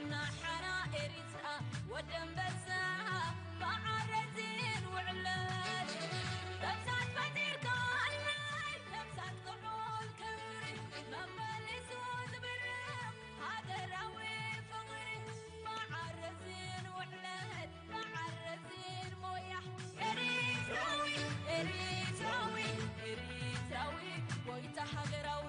ናሓራ ኤሪትራ ወደንበሳ ብዓረዚን ውዕለት ነብሳት ፈጢርካ ኣልማይ ነብሳት ክዑል ክብሪ መመሊሱ ዝብርቕ ሃገራዊ ፍቕሪ ብዓረዚን ውዕለት ብዓረዚን ሞያ ኤሪትራዊ ኤሪትራዊ ኤሪትራዊ ጎይታ ሃገራዊ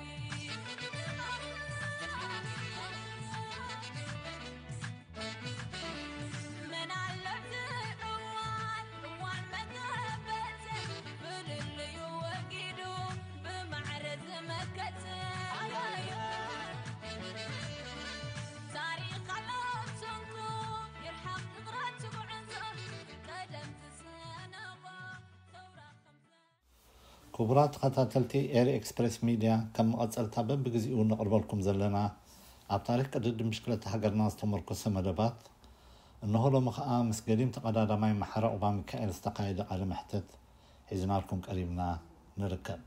ክቡራት ተኸታተልቲ ኤሪ ኤክስፕረስ ሚድያ፣ ከም መቐጸልታ በብግዜኡ ነቕርበልኩም ዘለና ኣብ ታሪኽ ቅድድም ብሽክለታ ሃገርና ዝተመርኮሰ መደባት፣ እንሆ ሎሚ ኸኣ ምስ ገዲም ተቐዳዳማይ ማሓረ ዑቕባሚካኤል ዝተኻየደ ቃለ መሕትት ሒዝናልኩም ቀሪብና ንርከብ።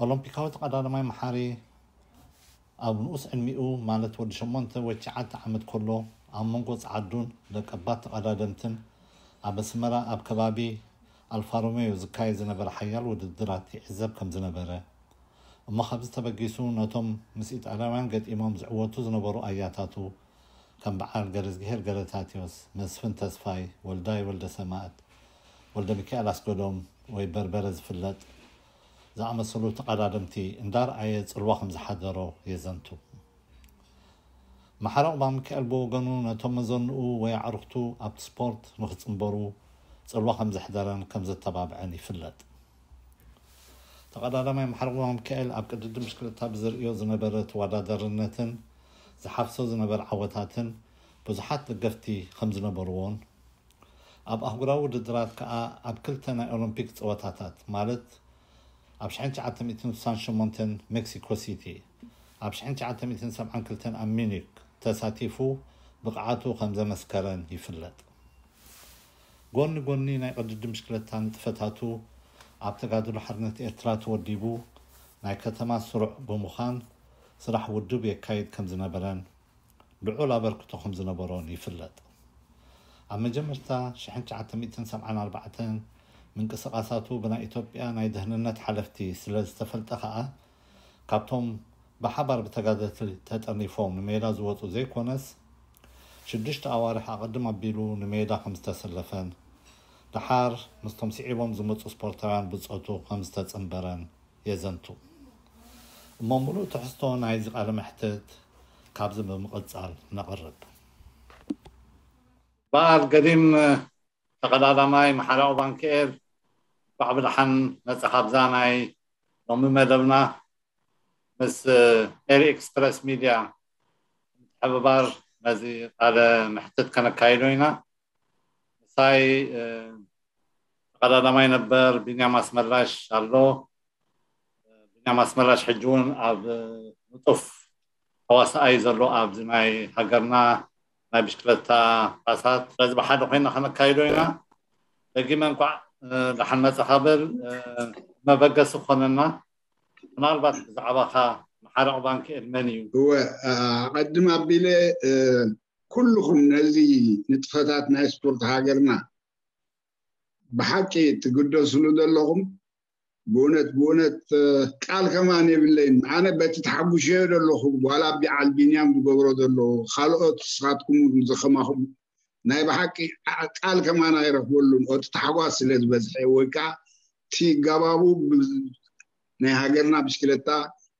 ኦሎምፒካዊ ተቐዳዳማይ መሓሪ ኣብ ንኡስ ዕድሚኡ ማለት ወዲ ሸሞንተ ወይ ትሽዓተ ዓመት ከሎ ኣብ መንጎ ጸዓዱን ደቀባት ተቐዳደምትን ኣብ ኣስመራ ኣብ ከባቢ ኣልፋ ሮሜዮ ዝካየድ ዝነበረ ሓያል ውድድራት ይዕዘብ ከም ዝነበረ እሞ ካብዚ ተበጊሱ ነቶም ምስ ኢጣልያውያን ገጢሞም ዝዕወቱ ዝነበሩ ኣያታቱ ከም በዓል ገረዝግሄር ገረታቴዎስ፣ መስፍን ተስፋይ፣ ወልዳይ ወልደሰማእት፣ ወልደሚካኤል ኣስገዶም ወይ በርበረ ዝፍለጥ ዝኣመሰሉ ተቐዳደምቲ እንዳርኣየ ጽልዋ ከም ዝሓደሮ የዘንቱ። ማሕረ ዑቕባሚካኤል ብወገኑ ነቶም መዘንኡ ወይ ኣዕሩኽቱ ኣብቲ ስፖርት ንኽጽንበሩ ጽልዋ ከም ዘሕደረን ከም ዘተባብዐን ይፍለጥ። ተቐዳዳማይ ማሕረ ዑቕባሚካኤል ኣብ ቅድድም ብሽክለታ ብዝርእዮ ዝነበረ ተወዳዳርነትን ዝሓፍሶ ዝነበረ ዓወታትን ብዙሓት ደገፍቲ ከም ዝነበርዎን ኣብ ኣህጉራዊ ውድድራት ከኣ ኣብ ክልተ ናይ ኦሎምፒክ ጸወታታት ማለት ኣብ ሽሕን ትሽዓተ ሚእትን ስሳን ሸሞንተን ሜክሲኮ ሲቲ ኣብ ሽሕን ትሽዓተ ሚእትን ሰብዓን ክልተን ኣብ ሚኒክ ተሳቲፉ ብቕዓቱ ከም ዘመስከረን ይፍለጥ። ጎኒ ጎኒ ናይ ቅድድም ብሽክለታ ንጥፈታቱ ኣብ ተጋድሎ ሓርነት ኤርትራ ተወዲቡ ናይ ከተማ ስሩዕ ብምዃን ስራሕ ውድብ የካይድ ከም ዝነበረን ልዑል ኣበርክቶ ከም ዝነበሮን ይፍለጥ። ኣብ መጀመርታ ሽሕን ትሽዓተ ሚእትን ሰብዓን ኣርባዕተን ምንቅስቓሳቱ ብናይ ኢትዮጵያ ናይ ደህንነት ሓለፍቲ ስለ ዝተፈልጠ ከኣ ካብቶም ብሓባር ብተጋደልቲ ተጠርኒፎም ንሜዳ ዝወጹ ዘይኮነስ ሽዱሽተ ኣዋርሕ ኣቐድም ኣቢሉ ንሜዳ ከም ዝተሰለፈን ደሓር ምስቶም ስዒቦም ዝመጹ ስፖርታውያን ብጾቱ ከም ዝተጸንበረን የዘንቱ። እሞ ምሉእ ትሕዝቶ ናይዚ ቃለ መሕትት ካብዚ ብምቕጻል ነቕርብ። በዓል ገዲም ተቐዳዳማይ ማሕረ ዑቕባሚካኤል፣ እንኳዕ ብደሓን መጻኻ ኣብዛ ናይ ሎሚ መደብና። ምስ ኤሪ ኤክስፕረስ ሚድያ ምትሕብባር ነዚ ቃለ መሕትት ከነካይዶ ኢና። ምሳይ ተቐዳዳማይ ነበር ቢንያም ኣስመላሽ ኣሎ። ቢንያም ኣስመላሽ ሕጂ እውን ኣብ ንጡፍ ተዋሳኣይ ዘሎ ኣብዚ ናይ ሃገርና ናይ ብሽክለታ ቃሳት። ስለዚ ብሓደ ኮይና ከነካይዶ ኢና። ደጊመ እንኳዕ ደሓን መጻኻ በል። መበገሲ ክኾነና ምናልባት ብዛዕባኻ ማሕረ ዑቕባሚካኤል መን እዩ? እወ፣ ኣቐድም ኣቢለ ኩልኹም ነዚ ንጥፈታት ናይ ስፖርት ሃገርና ብሓቂ ትግደስሉ ዘለኹም ብእውነት ብእውነት ቃል ከማን የብለይን። ኣነ በቲ ተሓጉሸዮ ዘለኹ ዋላ ቢዓል ቢንያም ዝገብሮ ዘሎ ካልኦት ንስኻትኩም ዝኸማኹም ናይ ብሓቂ ቃል ከማን ኣይረኽበሉን። እቲ ታሕጓስ ስለ ዝበዝሐ ወይ ከዓ እቲ ገባቡ ናይ ሃገርና ብሽክለታ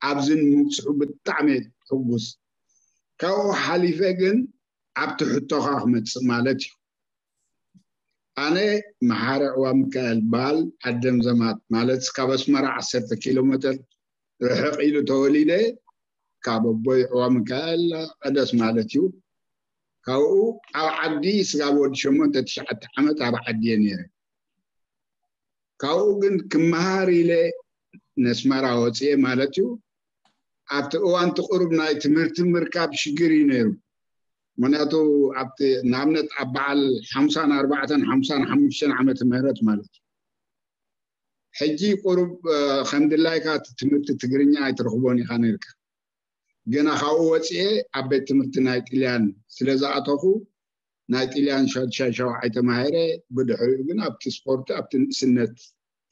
ኣብዚ ንምብፅሑ ብጣዕሚ ሕጉስ። ካብኡ ሓሊፈ ግን ኣብቲ ሕቶኻ ክመፅእ ማለት እዩ። ኣነ መሓረ ዕዋ ሚካኤል በሃል ዓደም ዘማት ማለት ካብ ኣስመራ ዓሰርተ ኪሎ ሜትር ርሕቕ ኢሉ ተወሊደ። ካብ ኣቦይ ዕዋ ሚካኤል ቀደስ ማለት እዩ። ካብኡ ኣብ ዓዲ ስጋብ ወዲ ሸሞንተ ትሽዓተ ዓመት ኣብ ዓዲ እየ ነይረ። ካብኡ ግን ክመሃር ኢለ ነስመራ ወፅየ ማለት እዩ። ኣብቲ እዋን እቲ ቁሩብ ናይ ትምህርቲ ምርካብ ሽግር እዩ ነይሩ። ምክንያቱ ኣብቲ ንኣብነት ኣብ በዓል ሓምሳን ኣርባዕተን ሓምሳን ሓሙሽተን ዓመተ ምህረት ማለት እዩ። ሕጂ ቁሩብ ከም ድላይካ እቲ ትምህርቲ ትግርኛ ኣይትረኽቦን ኢኻ ነርካ። ገና ካብኡ ወፅኤ ኣብ ቤት ትምህርቲ ናይ ጥልያን ስለ ዝኣተኹ ናይ ጥልያን ሻድሻይ ሻውዓይ ተማሂረ። ብድሕሪኡ ግን ኣብቲ ስፖርት ኣብቲ ንእስነት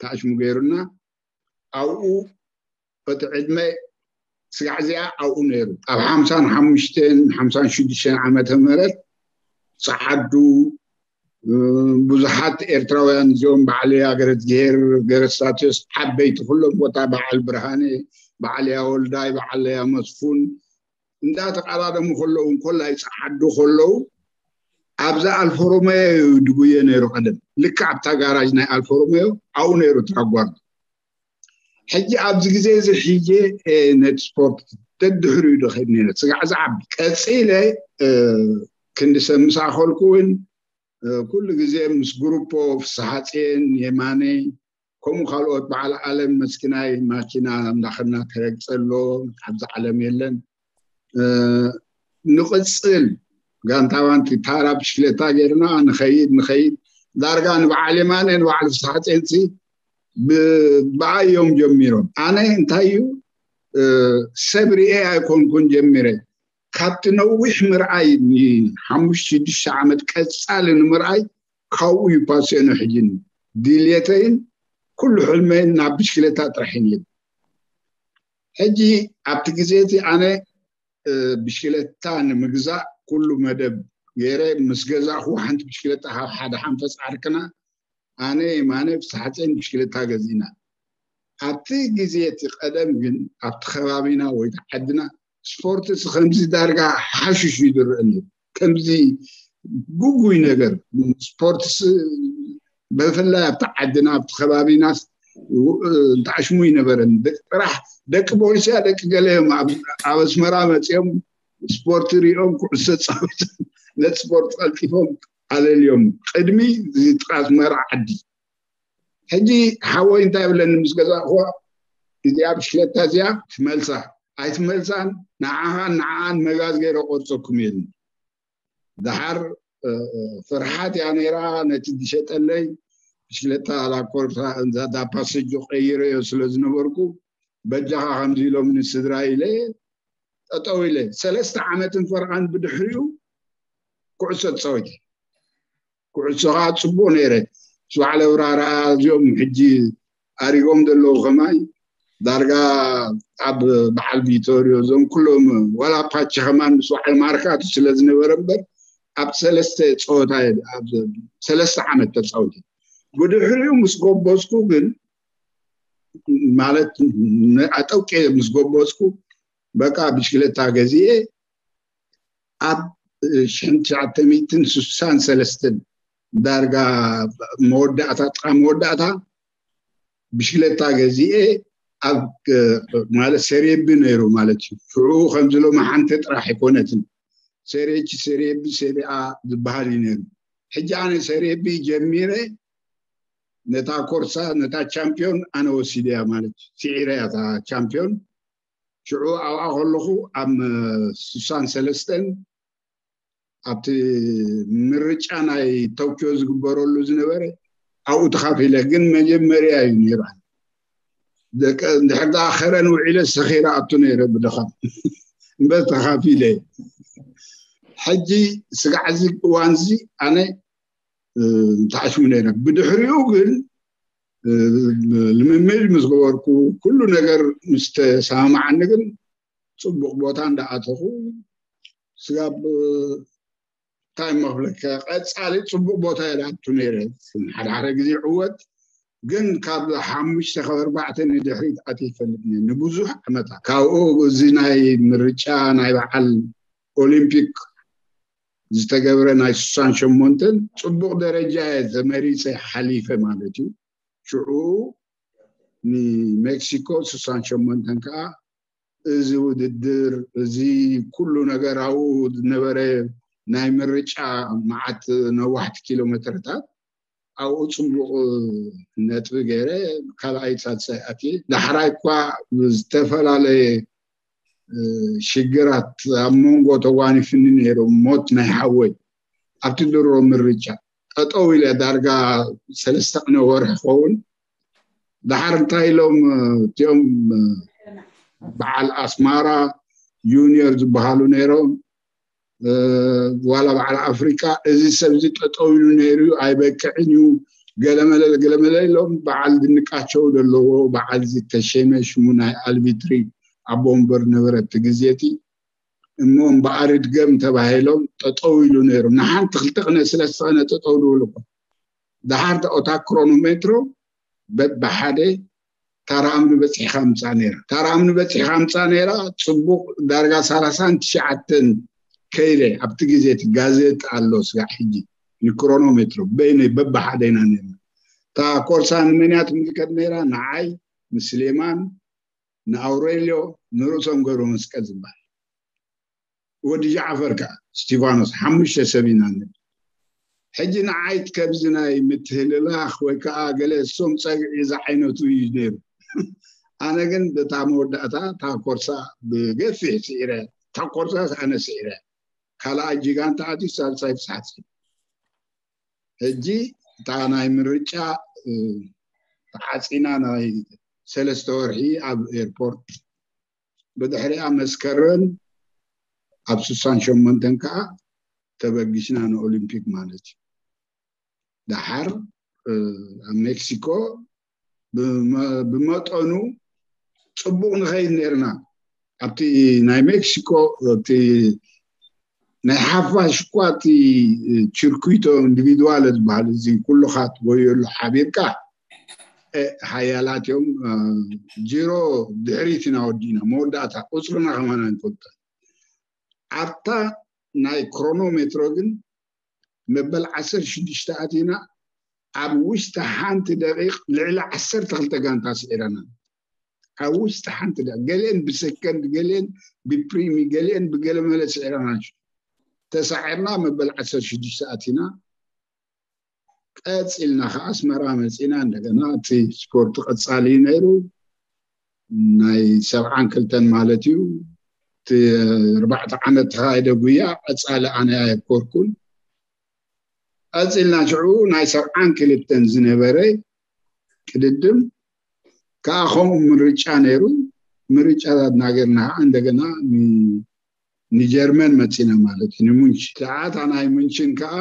ታሽሙ ገይሩና። ኣብኡ እቲ ዕድመ ስጋዕ እዚኣ ኣብኡ ነይሩ። ኣብ ሓምሳን ሓሙሽተን ሓምሳን ሽዱሽተን ዓመተ ምህረት ፀዓዱ ብዙሓት ኤርትራውያን እዚኦም በዓል ያገረዝጊሄር ገረስታቴዎስ ዓበይቲ ኩሎም ቦታ በዓል ብርሃነ በዓል ያወልዳይ በዓል ያመስፉን እንዳተቀዳደሙ ከለዉ እንኮላይ ፀዓዱ ከለዉ ኣብዚ ኣልፎሮመዮ እዩ ድጉየ ነይሩ ቀደም ልክዕ ኣብታ ጋራጅ ናይ ኣልፎሮመዮ ኣብኡ ነይሩ ትራጓርዱ ሕጂ ኣብዚ ግዜ እዚ ሕየ ነቲ ስፖርት ደድሕሪኡ ዶ ከይድ ነይረ ስጋዕ ዝዓቢ ቀፂለ ክንዲ ሰብ ምስ ኣኸልኩ እውን ኩሉ ግዜ ምስ ግሩፖ ፍስሓፅየን የማነ ከምኡ ካልኦት በዓል ዓለም መስኪናይ ማኪና እንዳኸድና ተረግፀ ኣሎ ኣብዚ ዓለም የለን ንቕፅል ጋንታ ባንቲ ታራ ብሽክሌታ ገይርና ንኸይድ ንኸይድ ዳርጋ ንበዓል የማነ ንበዓል ፍስሓፅየንሲ ብኣዮም ጀሚሮም ኣነ እንታይ እዩ ሰብ ርኤ ኣይኮንኩን ጀሚረ ካብቲ ነዊሕ ምርኣይ ንሓሙሽተ ሽዱሽተ ዓመት ቀፃሊ ንምርኣይ ካብኡ እዩ ፓስዮነ ሕጂ ድልየተይን ኩሉ ሕልመይን ናብ ብሽክሌታ ጥራሕ እዩ ነይሩ ሕጂ ኣብቲ ግዜ እቲ ኣነ ብሽክሌታ ንምግዛእ ኩሉ መደብ ገይረ ምስ ገዛእኹ ሓንቲ ብሽክሌታ ካብ ሓደ ሓንፈፅ ዓርክና ኣነ የማነ ፍስሓፀይን ብሽክሌታ ገዚእና ኣብቲ ግዜ እቲ ቀደም ግን ኣብቲ ከባቢና ወይ ዓድና ስፖርት ከምዚ ዳርጋ ሓሽሽ እዩ ዝረአ ነይሩ ከምዚ ጉጉይ ነገር ስፖርት ብፍላይ ኣብቲ ዓድና ኣብቲ ከባቢና ተዓሽሙ ይነበረን ጥራሕ ደቂ ቦሊስያ ደቂ ገለ እዮም ኣብ ኣስመራ መፅኦም ስፖርት ሪኦም ኩዕሶ ፃወት ነቲ ስፖርት ቀልጢፎም ኣለልዮም ቅድሚ ጥቃት መራ ዓዲ ሕጂ ሓወይ እንታይ ብለኒ ምስ ገዛእኹዋ እዚኣ ብሽክለታ እዚኣ ትመልሳ ኣይትመልሳን ንዓኻን ንዓኣን መጋዝ ገይረ ቆርፀኩም እየ ድሓር ፍርሓት እያ ነይራ ነቲ ዝሸጠለይ ብሽክለታ ላኮርሳ ዳፓሰጆ ቀይረዮ ስለ ዝነበርኩ በጃኻ ከምዚ ኢሎም ንስድራ ኢለ ጠጠው ኢለ ሰለስተ ዓመትን ፈርቓን ብድሕሪኡ ኩዕሶ ትፃወት ኩዕሶ ከዓ ፅቡቅ ነይረ ስባዕለ ውራራ እዚኦም ሕጂ ኣሪጎም ዘለዉ ከማይ ዳርጋ ኣብ በዓል ቪቶሪዮ እዞም ኩሎም ዋላ ፓቺ ከማን ምስ በዓል ማርካቱ ስለ ዝነበረ እምበር ኣብ ሰለስተ ፀወታ ሰለስተ ዓመት ተፃወቲ ብድሕሪኡ ምስ ጎበዝኩ ግን ማለት ኣጠውቄ ምስ ጎበዝኩ በቃ ብሽክለታ ገዚኤ ኣብ ሽሕን ትሽዓተ ሚእትን ስሳን ሰለስተን ዳርጋ መወዳእታ ጥቃ መወዳእታ ብሽክለታ ገዚኤ ኣብ ማለት ሴሬቢ ነይሩ ማለት እዩ ሽዑ ከምዚ ሎሚ ሓንቲ ጥራሕ ኣይኮነትን ሴሬች ሴሬቢ ሴሪኣ ዝበሃል እዩ ነይሩ ሕጂ ኣነ ሴሬቢ ጀሚረ ነታ ኮርሳ ነታ ቻምፒዮን ኣነ ወሲደያ ማለት እዩ ስዒረያ እታ ቻምፒዮን ሽዑ ኣብኣ ከለኹ ኣብ ስሳን ሰለስተን ኣብቲ ምርጫ ናይ ቶኪዮ ዝግበረሉ ዝነበረ ኣብኡ ተኻፊለ ግን መጀመርያ እዩ ነይሩ እንድሕር ደኣ ከረን ውዒለ ሰኺረ ኣቱ ነይረ ብድኻ እምበር ተኻፊለ ሕጂ ስጋዕ እዚ እዋን እዚ ኣነ ተዓሽሙ ነይረ ብድሕሪኡ ግን ልምምድ ምስ ገበርኩ ኩሉ ነገር ምስ ተሰማማዓኒ ግን ፅቡቅ ቦታ እንዳኣተኹ ስጋብ እንታይ መክብለካ ቀፃሊ ፅቡቅ ቦታ የላቱ ነይረ ሓደ ሓደ ግዜ ዕወት ግን ካብ ሓሙሽተ ካብ ኣርባዕተ ንድሕሪት ኣት ይፈልጥ ንብዙሕ ዓመታት ካብኡ እዚ ናይ ምርጫ ናይ በዓል ኦሊምፒክ ዝተገብረ ናይ ስሳን ሸሞንተን ፅቡቅ ደረጃ እየ ተመሪፀ ሓሊፈ ማለት እዩ ሽዑ ንሜክሲኮ ስሳን ሸሞንተን ከዓ እዚ ውድድር እዚ ኩሉ ነገር ኣብኡ ዝነበረ ናይ ምርጫ መዓት ነዋሕቲ ኪሎ ሜትርታት ኣብኡ ፅቡቅ ነጥቢ ገይረ ካልኣይ ሳልሳይ ኣትየ ዳሕራይ እኳ ዝተፈላለየ ሽግራት ኣብ መንጎ ተጓኒፍኒ ነይሩ ሞት ናይ ሓወይ ኣብቲ ድሮ ምርጫ ጠጠው ኢለ ዳርጋ ሰለስተ ቅነ ወርሒ ክኸውን ዳሓር እንታይ ኢሎም እቲኦም በዓል ኣስማራ ጁኒየር ዝበሃሉ ነይሮም። ዋላ በዓል ኣፍሪቃ እዚ ሰብዚ ጠጠው ኢሉ ነይሩ እዩ፣ ኣይበቅዕን እዩ፣ ገለመለለ ገለመለ ኢሎም በዓል ድንቃቸው ዘለዎ በዓል ዝተሸመ ሽሙ ናይ ኣልቢትሪ ኣቦ ወንበር ነበረ እቲ ግዜ እቲ። እሞ እምበኣር ድገም ተባሂሎም ጠጠው ኢሉ ነይሩ። ንሓንቲ ክልተ ቅነ ስለስተ ቅነ ጠጠው ድብል እኮ። ደሓር ኦታ ክሮኖሜትሮ በብሓደ ታራ እምኒ በፂሕካ ምፃ ነይራ። ታራ እምኒ በፂሕካ ምፃ ነይራ። ፅቡቅ ዳርጋ ሰላሳን ትሽዓተን ከይደ ኣብቲ ግዜ እቲ ጋዜጣ ኣሎ ስጋዕ ሕጂ ንክሮኖሜትሮ በይነይ በብሓደ ኢና ነይርና። እታ ኮርሳ ንመንያ ትምልከት ነይራ? ንዓይ፣ ንስሌማን፣ ንኣውሬልዮ፣ ንርእሶም ገብረ መስቀል ዝበሃል ወዲ ጃዕፈር ከዓ ስቲፋኖስ ሓሙሽተ ሰብ ኢና ንብል። ሕጂ ንዓይት ከብዚ ናይ ምትህልላኽ ወይ ከዓ ገለ እሶም ፀግዒ ዝዓይነቱ እዩ ነይሩ። ኣነ ግን በታ መወዳእታ እታ ኮርሳ ብገፊሕ ስዒረ። እታ ኮርሳ ኣነ ስዒረ። ካልኣይ ጅጋን ተኣትዩ ሳልሳይ ፍስሓት። ሕጂ እታ ናይ ምርጫ ተዓፂና ናይ ሰለስተ ወርሒ ኣብ ኤርፖርት። ብድሕሪኣ መስከረም ኣብ ስሳን ሸሞንተን ከዓ ተበጊስና ንኦሊምፒክ ማለት እዩ። ደሓር ኣብ ሜክሲኮ ብመጠኑ ፅቡቅ ንኸይድ ነርና። ኣብቲ ናይ ሜክሲኮ እቲ ናይ ሓፋሽ እኳ እቲ ችርኩቶ ኢንዲቪድዋል ዝበሃል እዚ ኩሉኻ ትጎየሉ ሓቢርካ ሓያላት እዮም። ጅሮ ድሕሪት ኢና ወዲእና፣ መወዳእታ ቁፅርና ከማን ኣይንፈልጦ። ኣብታ ናይ ክሮኖሜትሮ ግን መበል ዓሰርተ ሽዱሽተ ኣቲና ኣብ ውሽጢ ሓንቲ ደቂቕ ልዕሊ ዓሰርተ ክልተ ጋንታ ስዒረና። ኣብ ውሽጢ ሓንቲ ደቂቕ፣ ገሊአን ብሰከንድ፣ ገሊአን ብፕሪሚ፣ ገሊአን ብገለመለ ስዒረና። ተሳዒርና መበል ዓሰርተ ሽዱሽተ ኣቲና። ቀፂልና ከዓ ኣስመራ መፂና። እንደገና እቲ ስፖርት ቀፃሊ እዩ ነይሩ። ናይ ሰብዓን ክልተን ማለት እዩ። እቲ ኣርባዕተ ዓመት ተኻየደ ጉያ ቀፃሊ ኣነ ኣየኮርኩን። ቀፂልና ሽዑ ናይ ሰብዓን ክልተን ዝነበረ ቅድድም ከዓ ከምኡ ምርጫ ነይሩ። ምርጫታት እናገርና ከዓ እንደገና ንጀርመን መፂና ማለት እዩ፣ ንሙንች። ሰዓታ ናይ ሙንችን ከዓ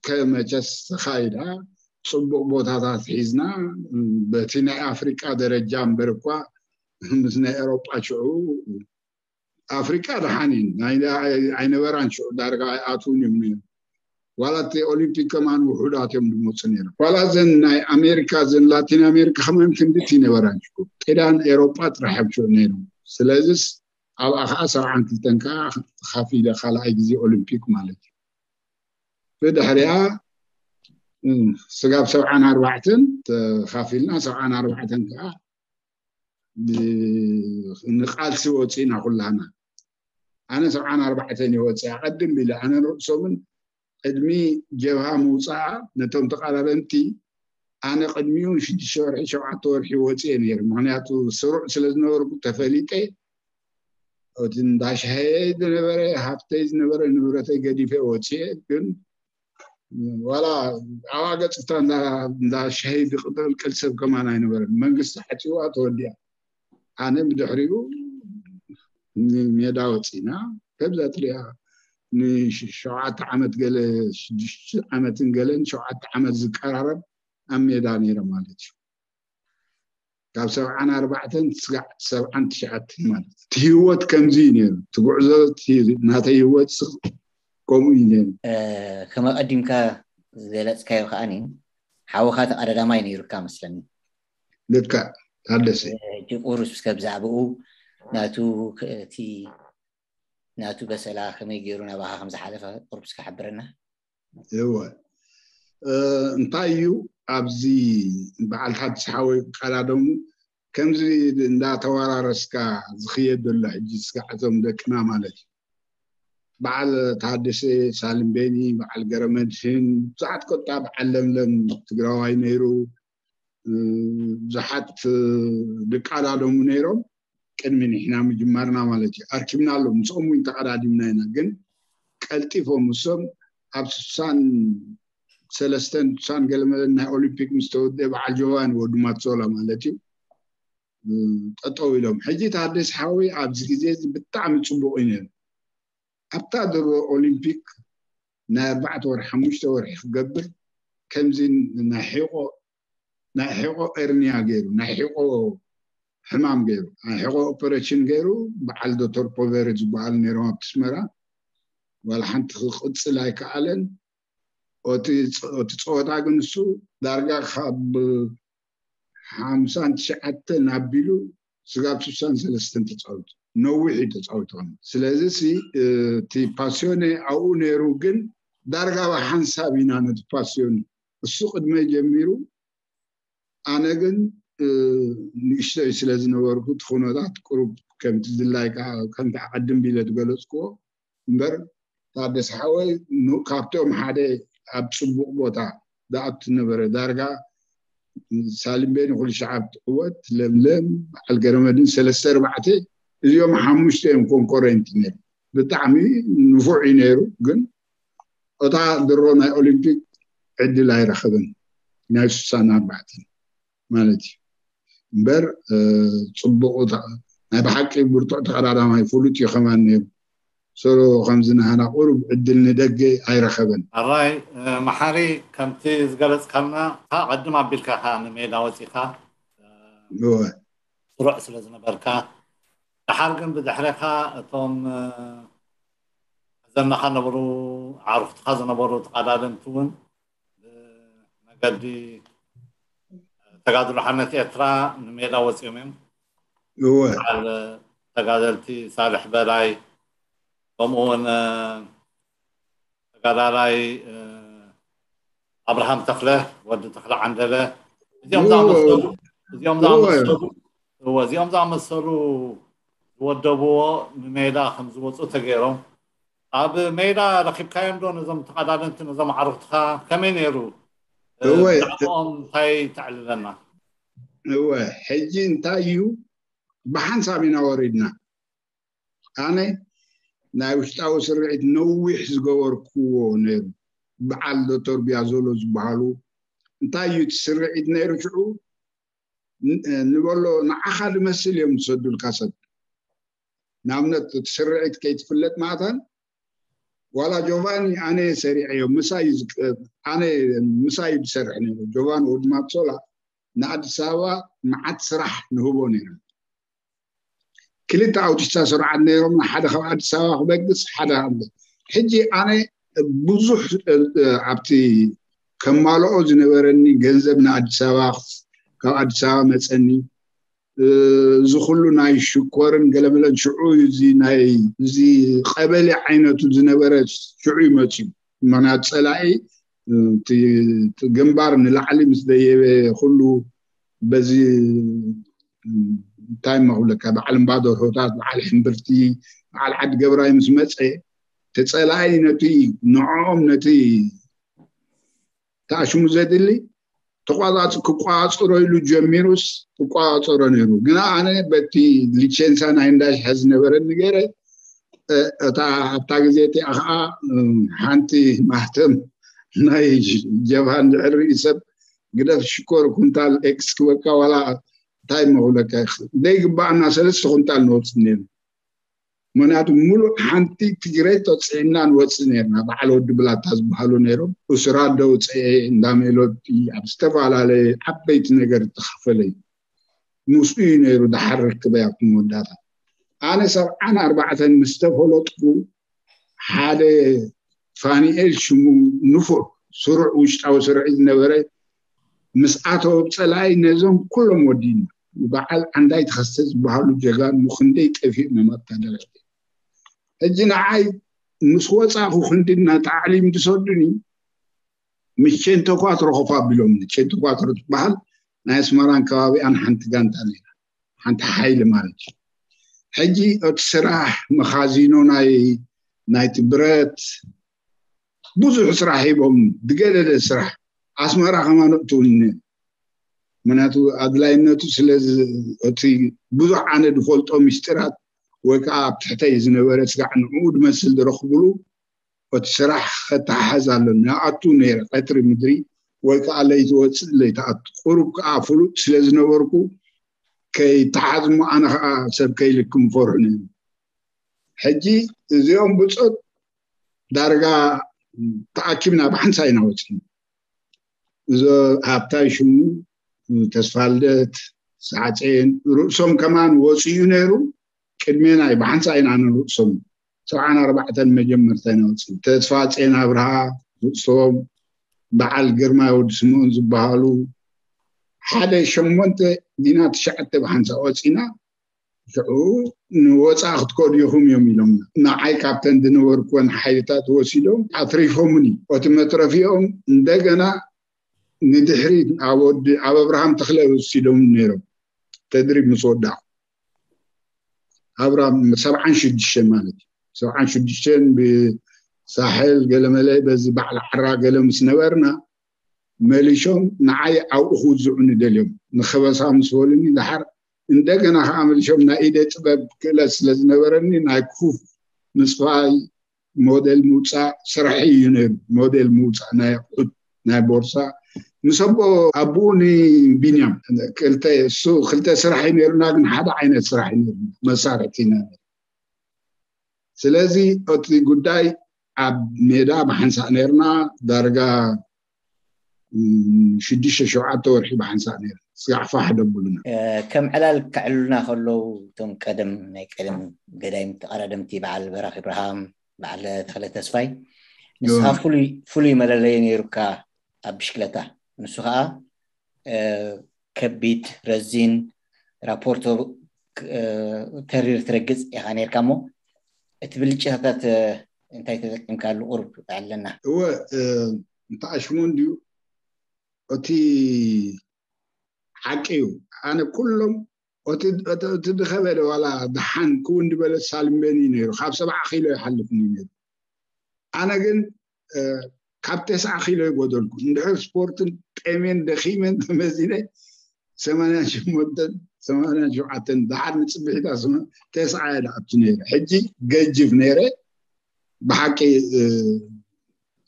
ከመቸስ ተኻይዳ። ፅቡቅ ቦታታት ሒዝና፣ በቲ ናይ ኣፍሪቃ ደረጃ እምበር እኳ ምስ ናይ ኤሮጳ ሽዑ ኣፍሪቃ ደሓን እዩ። ኣይነበራን ሽዑ፣ ዳርጋ ኣይኣትውን እዮም ነይሩ። ዋላ እቲ ኦሊምፒክ ከማን ውሑዳት እዮም ዝመፁ ነይሮም። ዋላ ዘን ናይ ኣሜሪካ፣ ዘን ላቲን ኣሜሪካ ከማን ክንድቲ ይነበራን ሽዑ። ጤዳን ኤሮጳ ጥራሕ እዮም ሽዑ ነይሮም። ስለዚስ ኣብኣ ከዓ ሰብዓን ክልተን ከዓ ተኻፊለ ካልኣይ ግዜ ኦሊምፒክ ማለት እዩ። ብድሕሪኣ ስጋብ ሰብዓን ኣርባዕተን ተኻፊልና፣ ሰብዓን ኣርባዕተን ከዓ ንቃልሲ ወፂእና ኩላና። ኣነ ሰብዓን ኣርባዕተን ይወፅእ ኣቐድም ኢለ ኣነ ርእሶምን ቅድሚ ጀብሃ ምውፃኣ ነቶም ተቃዳደምቲ ኣነ ቅድሚኡ ሽዱሽተ ወርሒ ሸውዓተ ወርሒ ወፅየ ነይሩ። ምክንያቱ ስሩዕ ስለ ዝነበርኩ ተፈሊጠ እቲ እንዳሻሃየ ዝነበረ ሃፍተይ ዝነበረ ንብረተይ ገዲፈ ወፅየ። ግን ዋላ ኣብኣ ገፅታ እንዳሻሂ ዝቅልቅል ሰብ ከማን ኣይነበረን። መንግስቲ ሓፂዋ ተወዲያ። ኣነ ብድሕሪኡ ንሜዳ ወፂና። ከምዛ ትሪኣ ንሸውዓተ ዓመት ገለ ሽዱሽተ ዓመትን ገለን ሸውዓተ ዓመት ዝቀራረብ ኣብ ሜዳ ነይረ ማለት እዩ። ካብ ሰብዓን ኣርባዕተን ስጋዕ ሰብዓን ትሽዓተን ማለት እቲ ህይወት ከምዚ እዩ ነይሩ። እቲ ጉዕዞ ናተይ ህይወት ከምኡ እዩ ነይሩ። ከም ኣቀዲምካ ዝገለፅካዮ ከዓኒ ሓወኻ ተቀዳዳማይ ነይሩካ መስለኒ። ልካ ታደሰ ቁሩስ እስከ ብዛዕባኡ ናቱ እቲ ናቱ በሰላ ከመይ ገይሩ ናባኻ ከም ዝሓለፈ ቁሩብ እስከ ሓብረና። እወ እንታይ እዩ ኣብዚ በዓል ሓድሽ ሓወይ ቀዳደሙ ከምዚ እንዳተወራረስካ ዝኽየድ ዘሎ ሕጂ ስጋዕ እዞም ደቅና ማለት እዩ። በዓል ታደሰ ሳልምቤኒ፣ በዓል ገረመድህን ብዙሓት ኮታ በዓል ለምለም ትግራዋይ ነይሩ። ብዙሓት ድቃዳደሙ ነይሮም ቅድሚ ንሕና ምጅማርና ማለት እዩ። ኣርኪብና ኣሎ ምስኦም እውን ተቀዳዲምና ኢና። ግን ቀልጢፎም እሶም ኣብ ስሳን ሰለስተን ስሳን ገለመለን ናይ ኦሊምፒክ ምስ ተወደ በዓል ጆባን ወዲ ማትሶላ ማለት እዩ ጠጠው ኢሎም። ሕጂ ታደስ ሓወይ ኣብዚ ግዜ እዚ ብጣዕሚ ፅቡቅ እዩ ነይሩ። ኣብታ ድሮ ኦሊምፒክ ናይ ኣርባዕተ ወርሒ ሓሙሽተ ወርሒ ክገብር ከምዚ ናይ ሒቆ ናይ ሒቆ ኤርኒያ ገይሩ ናይ ሒቆ ሕማም ገይሩ ናይ ሒቆ ኦፐሬሽን ገይሩ በዓል ዶክተር ፖቨሪ ዝበሃሉ ነይሮም ኣብቲ ኣስመራ። ዋላ ሓንቲ ክቅፅል ኣይከኣለን። እቲ ጸወታ ግን እሱ ዳርጋ ካብ ሓምሳን ትሽዓተን ኣቢሉ ስጋብ ስሳን ሰለስተን ተፃዊቱ። ነዊሕ እዩ ተፃዊቱ። ስለዚ እቲ ፓሲዮኔ ኣብኡ ነይሩ፣ ግን ዳርጋ ብሓንሳብ ኢና ነቲ ፓሲዮን እሱ ቅድመ ጀሚሩ። ኣነ ግን ንእሽተይ ስለ ዝነበርኩ እቲ ኩነታት ቅሩብ ከምቲ ድላይ ከምቲ ኣቐድም ቢለ ዝገለፅክዎ እምበር፣ ታደሰ ሓወይ ካብቶም ሓደ ኣብ ፅቡቕ ቦታ ዝኣቱ ነበረ። ዳርጋ ሳሊምቤን ኩሉ ሸዓብ ትዕወት፣ ለምለም፣ በዓል ገረመድን ሰለስተ ኣርባዕተ፣ እዚኦም ሓሙሽተ እዮም ኮንኮረንት ነይሩ። ብጣዕሚ ንፉዕ እዩ ነይሩ፣ ግን እታ ድሮ ናይ ኦሊምፒክ ዕድል ኣይረኸበን፣ ናይ ስሳን ኣርባዕተን ማለት እዩ። እምበር ፅቡቕ ናይ ብሓቂ ብርቱዕ ተቐዳዳማይ ፍሉጥ እዩ ከማን ነይሩ። ሰሎ ከምዚ ናህና ቁሩብ ዕድል ንደገ ኣይረኸበን። ኣራይ መሓሪ፣ ከምቲ ዝገለፅካልና፣ ካ ቀድም ኣቢልካ ካ ንሜዳ ወፂኻ ስሩዕ ስለ ዝነበርካ፣ ደሓር ግን ብድሕሬኻ እቶም ዘናኻ ነበሩ ዓርኩትኻ ዝነበሩ ተቐዳደምቲ እውን ብመገዲ ተጋድሎ ሓርነት ኤርትራ ንሜዳ ወፂኦም እዮም። በዓል ተጋደልቲ ሳልሕ በላይ፣ ከምኡ እውን ተጋዳላይ ኣብርሃም ተኽለ፣ ወዲ ተኽለ ዓንደለ፣ እዚኦም ዝኣመሰሉ እዚኦም ዝኣመሰሉ እወ እዚኦም ዝኣመሰሉ ዝወደብዎ ንሜዳ ከም ዝወፁ ተገይሮም። ኣብ ሜዳ ረኪብካዮም ዶ ነዞም ተቐዳደምቲ፣ ነዞም ዓርኩትኻ? ከመይ ነይሩ? እወ። ብዛዕባኦም እንታይ ተዕልለና? እወ፣ ሕጂ እንታይ እዩ፣ ብሓንሳብ ኢና ወሪድና። ኣነ ናይ ውሽጣዊ ስርዒት ነዊሕ ዝገበርክዎ ነይሩ። በዓል ዶክተር ቢያዞሎ ዝበሃሉ፣ እንታይ እዩ እቲ ስርዒት ነይሩ ሽዑ? ንበሎ፣ ንዓኻ ዝመስል እዮም ዝሰዱልካ ሰብ። ንኣብነት እቲ ስርዒት ከይትፍለጥ ማእታን፣ ዋላ ጆቫኒ ኣነ ሰሪዐዮ፣ ምሳይ ዝቅ- ኣነ ምሳይ ዝሰርሕ ነይሩ። ጆቫኒ ወዲ ማትሶላ ንኣዲስ ኣበባ መዓት ስራሕ ንህቦ ነይሩ። ክልተ ኣውቶቡሳት ስሩዓት ነይሮም፣ ሓደ ካብ ኣዲስ ኣበባ ክበግስ፣ ሓደ ካብ ሕጂ ኣነ ብዙሕ ኣብቲ ከማልኦ ዝነበረኒ ገንዘብ ንኣዲስ ኣበባ፣ ካብ ኣዲስ ኣበባ መፀኒ፣ እዚ ኩሉ ናይ ሽኮርን ገለመለን ሽዑ እዚ ናይ እዚ ቀበሌ ዓይነቱ ዝነበረ ሽዑ ይመፅዩ። ምክንያቱ ፀላኢ ግንባር ንላዕሊ ምስ ደየበ ኩሉ በዚ እንታይ መክብለካ በዓል እምባደርሆታት፣ በዓል ሕምብርቲ፣ በዓል ዓዲ ገብራይ ምስ መፀ፣ ተፀላኢ ነቲ ንዕኦም ነቲ ተኣሽሙ ዘድሊ ተቋፃፅ ክቋፅሮ ኢሉ ጀሚሩስ ክቋፅሮ ነይሩ። ግና ኣነ በቲ ሊቸንሳ ናይ እንዳሽሐ ዝነበረኒ ገይረ እታ ኣብታ ግዜ እቲኣ ከዓ ሓንቲ ማህተም ናይ ጀብሃ እንድሕር ርእዩ ሰብ ግደፍ ሽኮር ኩንታል ኤክስ ክበልካ ዋላ እንታይ መክብለካ ዘይግባኣና ሰለስተ ኩንታል ንወፅእ ነይሩ። ምክንያቱ ሙሉእ ሓንቲ ትግሬ ተፅዒና ንወፅእ ነርና። በዓል ወዲ ብላታ ዝበሃሉ ነይሮም። እሱራት ደውፀኤ እንዳ ሜሎዲ ኣብ ዝተፈላለየ ዓበይቲ ነገር ዝተኸፈለ እዩ። ምስኡ እዩ ነይሩ ደሓር ርክበይ ኣብቲ መወዳእታ። ኣነ ሰብዓን ኣርባዕተን ምስ ተፈለጥኩ ሓደ ፋኒኤል ሽሙ ንፉዕ ስሩዕ ውሽጣዊ ስርዒ ዝነበረ ምስ ኣተወ ብፀላኢ ነዞም ኩሎም ወዲና። በዓል ዓንዳይ ተኸስተ ዝበሃሉ ጀጋኑ ክንደይ ጠፊኦም እዮም ኣብታ ደረጃ። ሕጂ ንዓይ ምስ ወፃእኩ ክንዲ እናተዓሊም ዝሰዱኒ ምስ ቼንቶኳትሮ ኮፍ ኣቢሎምኒ። ቼንቶኳትሮ ትበሃል ናይ ኣስመራን ከባቢኣን ሓንቲ ጋንታ ነይራ፣ ሓንቲ ሓይሊ ማለት እዩ። ሕጂ እቲ ስራሕ መኻዚኖ ናይ ናይቲ ብረት ብዙሕ ስራሕ ሂቦም ዝገደደ ስራሕ ኣስመራ ከማን እትውኒ ምክንያቱ ኣድላይነቱ ስለ እቲ ብዙሕ ኣነ ዝፈልጦ ምስጢራት ወይ ከዓ ኣብ ትሕተይ ዝነበረ ስጋዕ ንዕኡ ዝመስል ዝረኽብሉ እቲ ስራሕ ከተሓሓዝ ኣሎ ንኣቱ ነይረ ቀትሪ ምድሪ ወይ ከዓ ለይቲ ወፅእ ለይተኣቱ ቁሩብ ከዓ ፍሉጥ ስለ ዝነበርኩ ከይተሓዝሙ ኣነ ከዓ ሰብ ከይልክም ፈርሑኒ። ሕጂ እዚኦም ብፆት ዳርጋ ተኣኪብና ብሓንሳ ኢና ወፂና። እዞ ሃብታይ ሽሙ፣ ተስፋልደት፣ ሳዕፅኤን ርእሶም ከማን ወፂኡ ነይሩ። ቅድሜና እዩ ብሓንሳ ኢና ንርእሶም ሰብዓን ኣርባዕተን መጀመርታ ኢና ወፂና። ተስፋ ጼን ኣብርሃ ርእሶም፣ በዓል ግርማ ወዲ ስምኦን ዝበሃሉ ሓደ ሸሞንተ ዲና ትሽዓተ ብሓንሳ ወፂና። ሽዑ ንወፃ ክትከዱ ኢኹም እዮም ኢሎም ንዓይ ካብተን ዝነበርኩወን ሓይልታት ወሲዶም ኣትሪፎምኒ። እቲ መትረፊኦም እንደገና ንድሕሪት ኣብ ወዲ ኣብ ኣብርሃም ተኽለ ወሲዶም ነይሮም። ተድሪብ ምስ ወዳኹ ኣብርሃም ሰብዓን ሽዱሽተን ማለት እዩ። ሰብዓን ሽዱሽተን ብሳሕል ገለመለ በዚ ባዕሊ ዓራ ገለ ምስ ነበርና መሊሾም ንዓይ ኣብኡ ክውዝዑኒ ደልዮም ንኸበሳ ምስ በሉኒ ድሓር እንደገና ከዓ መሊሾም ናይ ኢደ ጥበብ ክእለት ስለ ዝነበረኒ ናይ ኩፍ ምስፋይ ሞዴል ምውፃእ ስራሕ እዩ ነይሩ። ሞዴል ምውፃእ ናይ ኣቑሑት ናይ ቦርሳ ምስ ኣቦ ኣቦኡ ንቢንያም ክልተ እሱ ክልተ ስራሕ እዩ ነይሩና፣ ግን ሓደ ዓይነት ስራሕ እዩ ነይሩ መሳርሕቲ ኢና ነይሩ። ስለዚ እቲ ጉዳይ ኣብ ሜዳ ብሓንሳእ ነይርና ዳርጋ ሽዱሽተ ሸውዓተ ወርሒ ብሓንሳእ ነይሩ ስጋዕ ፋሕ ደብሉና። ከም ዕላል ከዕልሉና ከለዉ እቶም ቀደም ናይ ቀደም ገዳይም ተቐዳደምቲ በዓል በራኽ ኢብርሃም፣ በዓል ተኽለ ተስፋይ ንስኻ ፍሉይ ፍሉይ መለለይ ነይሩካ ኣብ ብሽክለታ። ንሱ ከዓ ከቢድ ረዚን ራፖርቶ ተሪር ትረግፅ ኢኻ ነርካ እሞ እቲ ብልጭታታት እንታይ ተጠቂምካሉ ቁርብ ኣለና። እወ እንተኣሽሙ እንድዩ እቲ ሓቂ እዩ። ኣነ ኩሎም እቲ ድኸበደ ዋላ ድሓን ክውን ዝበለ ሳልምበኒ ነይሩ ካብ ሰብዓ ኪሎ ይሓልፍኒ ነይሩ። ኣነ ግን ካብ ተስዓ ኪሎ ይጎደልኩ። እንድሕር ስፖርትን ጤሜን ደኺመን ተመዚነ ሰማንያን ሸሞንተን ሰማንያን ሸውዓተን ድሓር ንፅብሒታ ስመ ተስዓ እየ ድኣቱ ነይረ። ሕጂ ገጅፍ ነይረ። ብሓቂ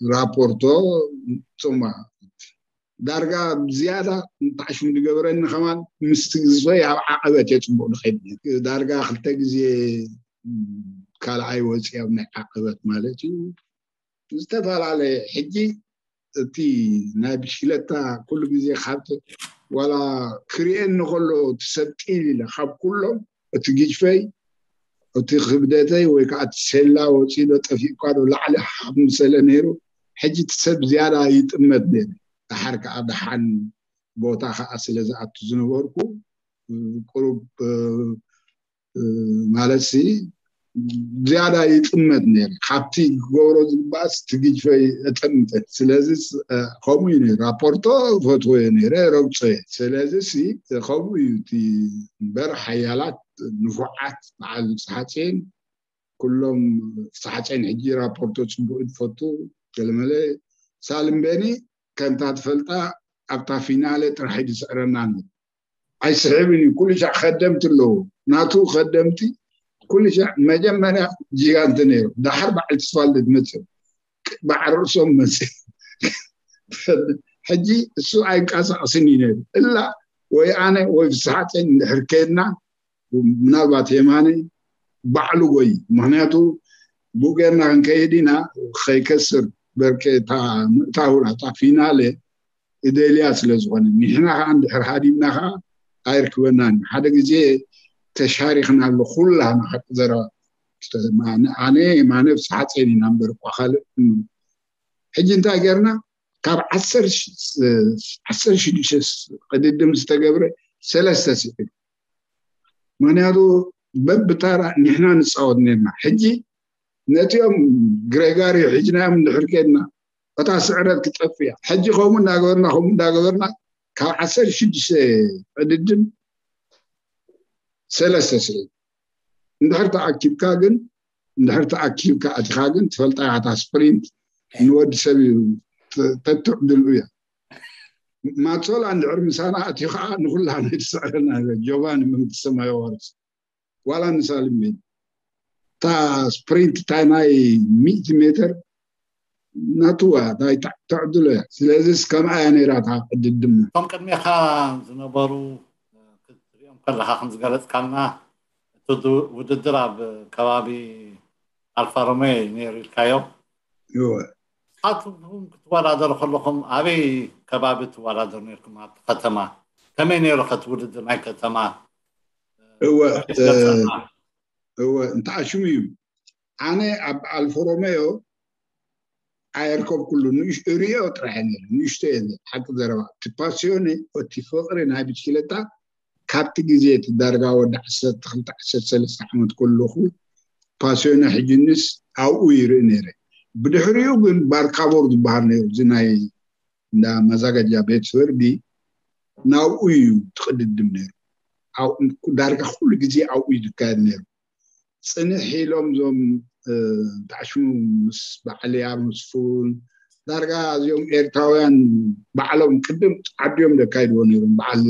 ራፖርቶ ፅማ ዳርጋ ዝያዳ ንጣዕሽም ዝገበረኒ ከማን ምስቲ ግዝፈይ ኣብ ዓቐበት እየ ፅቡቕ ንኸይድ ነይሩ። ዳርጋ ክልተ ግዜ ካልኣይ ወፂ ኣብ ናይ ዓቐበት ማለት እዩ። ዝተፈላለየ ሕጂ እቲ ናይ ብሽክለታ ኩሉ ግዜ ካብ ዋላ ክሪኤኒ ከሎ እቲ ሰብ ጢል ኢለ ካብ ኩሎም እቲ ግጅፈይ እቲ ክብደተይ ወይ ከዓ እቲ ሴላ ወፂዶ ጠፊእኳ ዶ ላዕሊ ሓብ ምሰለ ነይሩ። ሕጂ እቲ ሰብ ዝያዳ ይጥመት ነይሩ። ደሓር ከዓ ደሓን ቦታ ከዓ ስለ ዝኣቱ ዝነበርኩ ቁሩብ ማለት ሲ ዝያዳ ይጥመት ነይሩ። ካብቲ ክገብሮ ዝግባእስ እቲ ግጅፈይ እጠምተ። ስለዚ ከምኡ እዩ ነይሩ። ራፖርቶ ፈትወዮ ነይረ ረግጾ እየ። ስለዚ ሲ ከምኡ እዩ እቲ እምበር ሓያላት ንፉዓት በዓል ፀሓፅኤን ኩሎም ፀሓፅኤን ሕጂ ራፖርቶ ፅቡቅ ዝፈቱ ገለመለ ሳልምበኒ ከምታ ትፈልጣ ኣብታ ፊናለ ጥራሕ እዩ ዝስዕረና ነይሩ። ኣይስሕብን እዩ። ኩሉ ሻዕ ከደምቲ ኣለዎ ናቱ ከደምቲ ኩሉ ሻዕ መጀመርያ ጂጋንት ነይሩ። ዳሓር በዓል ተስፋልደት መፅእ በዓል ርእሶም መፅእ ሕጂ እሱ ኣይንቀሳቀስን እዩ ነይሩ እላ ወይ ኣነ ወይ ፍስሓፀን እንድሕር ከድና ምናልባት የማነ ባዕሉ ጎይ ምክንያቱ ብኡ ጌርና ክንከይድ ኢና ከይከስር በርኬታ ምእታው ናታ ፊናለ እደልያ ስለ ዝኾነ ንሕና ከዓ እንድሕር ሃዲምና ከዓ ኣይርክበናን ሓደ ግዜ ተሻሪክና ኣሎ ኩላና ሓቂ ዘረባ ኣነ ማነ ፍስሓፀን ኢና እምበር እኳ ካልእ ሕጂ እንታይ ጌርና ካብ ዓሰርተ ሽዱሽተ ቅድድም ዝተገብረ ሰለስተ ስዒቡ ምክንያቱ በብታራ ንሕና ንፃወት ነርና ሕጂ ነቲኦም ግሬጋሪ ሒዝናዮም እንድሕር ከድና እታ ስዕረት ክጠፍእ እያ ሕጂ ከምኡ እንዳገበርና ከምኡ እንዳገበርና ካብ ዓሰርተ ሽዱሽተ ቅድድም ሰለስተ ስዒቡ እንድሕር ተኣኪብካ ግን እንድሕር ተኣኪብካ ኣቲኻ ግን ትፈልጣ እያ እታ ስፕሪንት ንወዲ ሰብ እዩ ተትዕድሉ እያ ማጾላ እንድሕር ምሳና ኣትዩ ከዓ ንኩላ ናይ ትስዕረና ጆቫኒ መንግስቲ ሰማይ ዋርስ ዋላ ንሳልም ቤት እታ ስፕሪንት እታ ናይ ሚእቲ ሜትር ናትዋ ናይ ተዕድሎ እያ ስለዚስ ከምኣ እያ ነይራ እታ ቅድድም እቶም ቅድሜኻ ዝነበሩ ክትሪኦም ከለኻ ከም ዝገለጽካልና እቲ ውድድር ኣብ ከባቢ ኣልፋ ሮሜዮ እዩ ነይሩ ኢልካዮ። እወ ንስኻትኩም ክትወዳደሩ ከለኹም ኣበይ ከባቢ ትወዳደሩ ነርኩም ኣብቲ ከተማ? ከመይ ነይሩ ከቲ ውድድር ናይ ከተማ? እወ ገጸና እወ እንተዓሽሙ እዩ። ኣነ ኣብ ኣልፎ ሮሜዮ ኣየርከብኩሉ ንእሽ እሪኦ ጥራሕ ነይሩ ንእሽቶ እየ። ሓቂ ዘረባ እቲ ፓሲዮን እቲ ፍቕሪ ናይ ብሽክለታ ካብቲ ግዜ እቲ ዳርጋ ወዲ ዓሰርተ ክልተ ዓሰርተ ሰለስተ ዓመት ከለኹ ፓሲዮን ሕጅንስ ኣብኡ ይርኢ ነይረ። ብድሕሪኡ ግን ባርካቦር ዝበሃል ነይሩ እዚ ናይ እንዳ መዛጋጃ ቤት ፍርዲ ናብኡ እዩ ትቕድድም ነይሩ። ዳርጋ ኩሉ ግዜ ኣብኡ እዩ ዝካየድ ነይሩ። ፅንሕ ኢሎም እዞም ታሽሙ ምስ በዓል ያመስፉን ዳርጋ እዚኦም ኤርትራውያን ባዕሎም ቅድም ዓዲኦም ዘካይድዎ ነይሮም። በዓል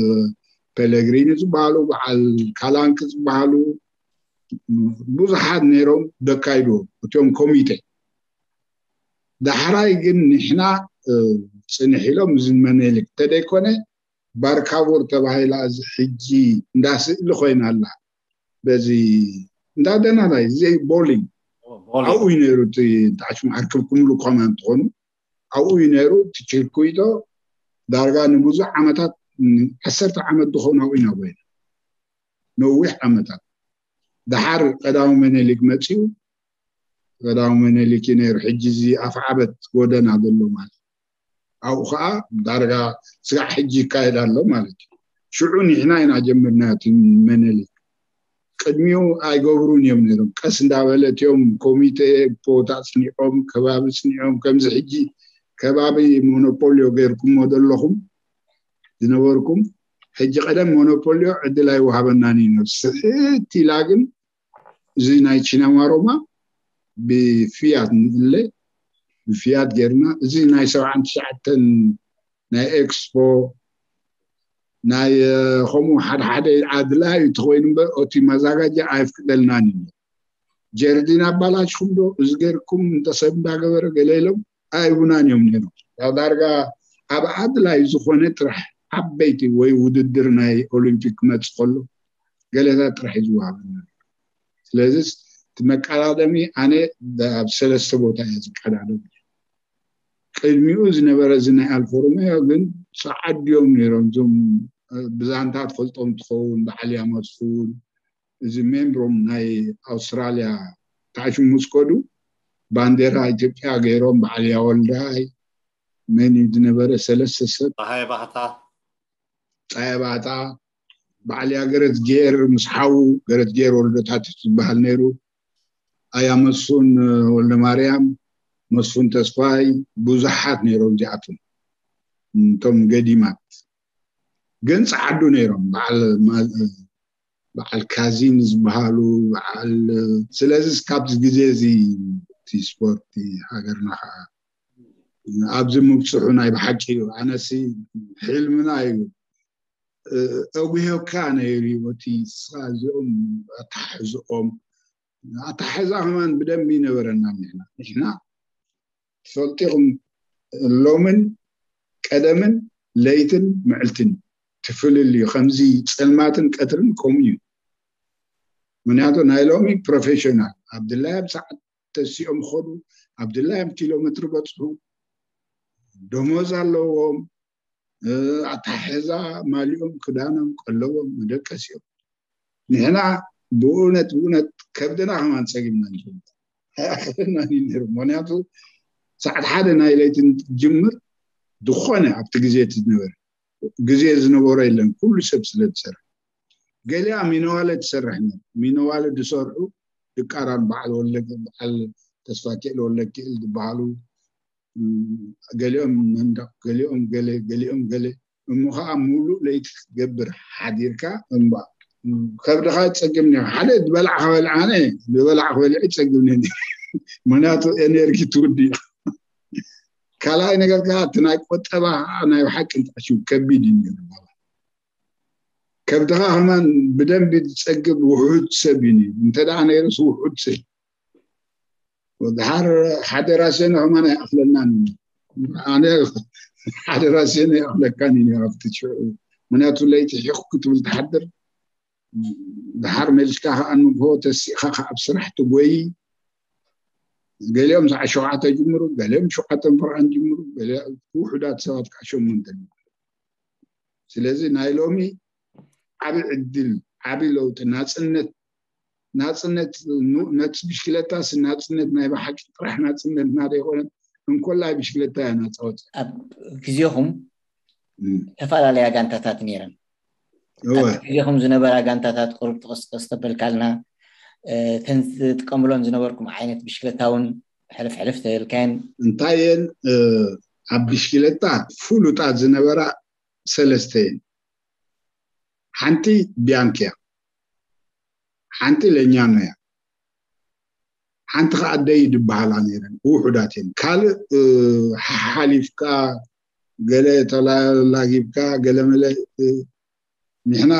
ፔለግሪኒ ዝበሃሉ በዓል ካላንክ ዝበሃሉ ብዙሓት ነይሮም ዘካይድዎ እቲኦም ኮሚቴ። ዳሕራይ ግን ንሕና ፅንሕ ኢሎም እዚ መኔሊክ ተደይኮነ ባርካቦር ተባሂላ እዚ ሕጂ እንዳ ስእሊ ኮይና ኣላ። በዚ እንዳ ደናናይ እዚ ቦሊንግ ኣብኡ እዩ ነይሩ። እቲ ታሽሙ ኣርክብኩምሉ ኮማ እንትኾኑ ኣብኡ እዩ ነይሩ። እቲ ችርኩይቶ ዳርጋ ንብዙሕ ዓመታት ዓሰርተ ዓመት ዝኾኑ ኣብኡ ኢና ኮይና ነዊሕ ዓመታት። ደሓር ቀዳማዊ መኔሊክ መፂኡ ቀዳማዊ መኔሊክ እዩ ነይሩ። ሕጂ እዚ ኣፍዓበት ጎደና ዘሎ ማለት ኣብኡ ከዓ ዳርጋ ስጋዕ ሕጂ ይካየድ ኣሎ ማለት እዩ። ሽዑ ንሕና ኢና ጀምርና እቲ መኔሊክ። ቅድሚኡ ኣይገብሩን እዮም ነይሮም። ቀስ እንዳበለ እቲኦም ኮሚቴ ቦታ ፅኒዖም ከባቢ ፅኒዖም ከምዚ ሕጂ ከባቢ ሞኖፖልዮ ገይርኩሞ ዘለኹም ዝነበርኩም ሕጂ ቀደም ሞኖፖልዮ ዕድል ኣይወሃበናን እዩ ነብስ ስሕት ኢላ ግን እዚ ናይ ቺናማሮማ ብፍያት ንእለ ብፍያት ጌርና እዚ ናይ ሰብዓን ትሽዓተን ናይ ኤክስፖ ናይ ከምኡ ሓደ ሓደ ኣድላይ ተኮይኑ እምበር እቲ መዛጋጃ ኣይፍቅደልናን እዩ። ጀርዲን ኣባላሽኩም ዶ እዚ ገርኩም እንተሰብ እንዳገበረ ገለ ኢሎም ኣይቡናን እዮም ነይሮም። ያው ዳርጋ ኣብ ኣድላይ ዝኾነ ጥራሕ ዓበይቲ ወይ ውድድር ናይ ኦሊምፒክ ክመፅእ ከሎ ገለታት ጥራሕ እዩ ዝወሃበና። ስለዚ እቲ መቀዳደሚ ኣነ ኣብ ሰለስተ ቦታ እየ ዝቀዳደም። ቅድሚኡ ዝነበረ እዚ ናይ ኣልፎ ሮሜዮ ግን ፃዓዱ እዮም ነይሮም። እዞም ብዛንታ ትፈልጦም ትኸውን በዓል ያመስፉን እዚ ሜምብሮም ናይ ኣውስትራልያ ታሽሙ ምስ ከዱ ባንዴራ ኢትዮጵያ ገይሮም በዓል ያወልዳይ መን እዩ ዝነበረ ሰለስተ ሰብ ፀሃየ ባህታ ፀሃየ ባህታ በዓል ያገረት ጌር ምስ ሓዉ ገረት ጌር ወልደታት ዝበሃል ነይሩ። ኣያ መስፉን ወልደ ማርያም መስፉን ተስፋይ ብዙሓት ነይሮም እዚኣቶም እቶም ገዲማት ግን ፀዓዱ ነይሮም በዓል ካዚን ዝበሃሉ በዓል ስለዚ ካብዚ ግዜ እዚ እቲ ስፖርት ሃገርና ከዓ ኣብዚ ምብፅሑ ናይ ብሓቂ እዩ። ኣነሲ ሕልምና እዩ። ኣጉሄካ ነይሩ እዩ እቲ ስኻ እዚኦም ኣታሕዝኦም ኣታሕዛ ከማን ብደንቢ ይነበረና። ንሕና ንሕና ትፈልጢኹም ሎምን ቀደምን ለይትን ምዕልትን ትፍልል እዩ። ከምዚ ፀልማትን ቀትርን ከምኡ እዩ። ምክንያቱ ናይ ሎሚ ፕሮፌሽናል ኣብድላይ ኣብ ሰዓት ተሲኦም ኾዱ ኣብድላዮም ኪሎ ሜትሪ በፅሑ ደሞዝ ኣለዎም። ኣታሕዛ ማሊኦም ክዳኖም ቀለቦም መደቀሲኦም ንሕና ብእውነት ብእውነት ከብድና ከማን ፀጊምና ንፈልጥ ኣይኣኽለናን እዩ ነይሩ። ምክንያቱ ሰዓት ሓደ ናይ ለይቲ ጅምር ዝኾነ ኣብቲ ግዜ እቲ ዝነበረ ግዜ ዝነበሮ የለን። ኩሉ ሰብ ስለ ዝሰርሕ ገሊኣ ሚነዋለ ትሰርሕ ነር ሚነዋለ ዝሰርሑ ድቃራን በዓል ወለገ በዓል ተስፋ ክእል ወለክእል ዝበሃሉ ገሊኦም መንደቕ ገሊኦም ገለ ገሊኦም ገለ እሞ ከዓ ሙሉእ ለይቲ ክትገብር ሓዲርካ እምባ ከብድኻ ይፀግም ኒ ሓደ ዝበላዕ ክበልዕ ኣነ ዝበላዕ ክበልዕ ይፀግም ኒ ምክንያቱ ኤነርጂ ትውዲ ካልኣይ ነገር ከዓ እቲ ናይ ቆጠባ ከዓ ናይ ሓቂ ንጣሽም ከቢድ እዩ ነይሩ ከብድኻ ከማን ብደንቢ ዝፀግብ ውሑድ ሰብ እዩ ነይሩ እንተ ደኣ ነይሩስ ውሑድ ሰብ ወድሓር ሓደ ራሴን ከማን ኣይኣኽለናን ኣነ ሓደ ራሴን ኣይኣኽለካን እዩ ኣብቲ ሽዑ ምክንያቱ ለይቲ ሒኹ ክትብል ትሓድር ድሓር መሊስካ ከዓ ንግሆ ተሲእካ ከዓ ኣብ ስራሕ ትጎይ። ገሊኦም ሰዓት ሸውዓተ ጅምሩ፣ ገሊኦም ሸውዓተ ፍርቓን ጅምሩ፣ ገሊኦም ውሑዳት ሰባት ከዓ ሸሞንተ ጅምሩ። ስለዚ ናይ ሎሚ ዓቢ ዕድል፣ ዓቢ ለውጢ፣ ናጽነት ናጽነት ኑ- ነቲ ብሽክለታስ ናጽነት ናይ ብሓቂ ጥራሕ ናጽነትና ዘይኮነት፣ እንኮላይ ብሽክለታ እያ ናጻወት። ኣብ ግዜኹም ዝተፈላለያ ጋንታታት ነይረን። ኣብ ግዜኹም ዝነበራ ጋንታታት ቁሩብ ጥቕስጥቕስ ተበልካልና፣ ተን ዝጥቀምሎም ዝነበርኩም ዓይነት ብሽክለታ እውን ሕልፍ ሕልፍ ተበልካየን። እንታይ እየን ኣብ ብሽክለታ ፍሉጣት ዝነበራ ሰለስተ እየን። ሓንቲ ቢያንክ እያ፣ ሓንቲ ለኛኖ እያ፣ ሓንቲ ከዓ ኣደይ ዝበሃላ ነይረን። ውሑዳት እየን። ካልእ ሓሓሊፍካ ገለ ተላጊብካ ገለ መለ ንሕና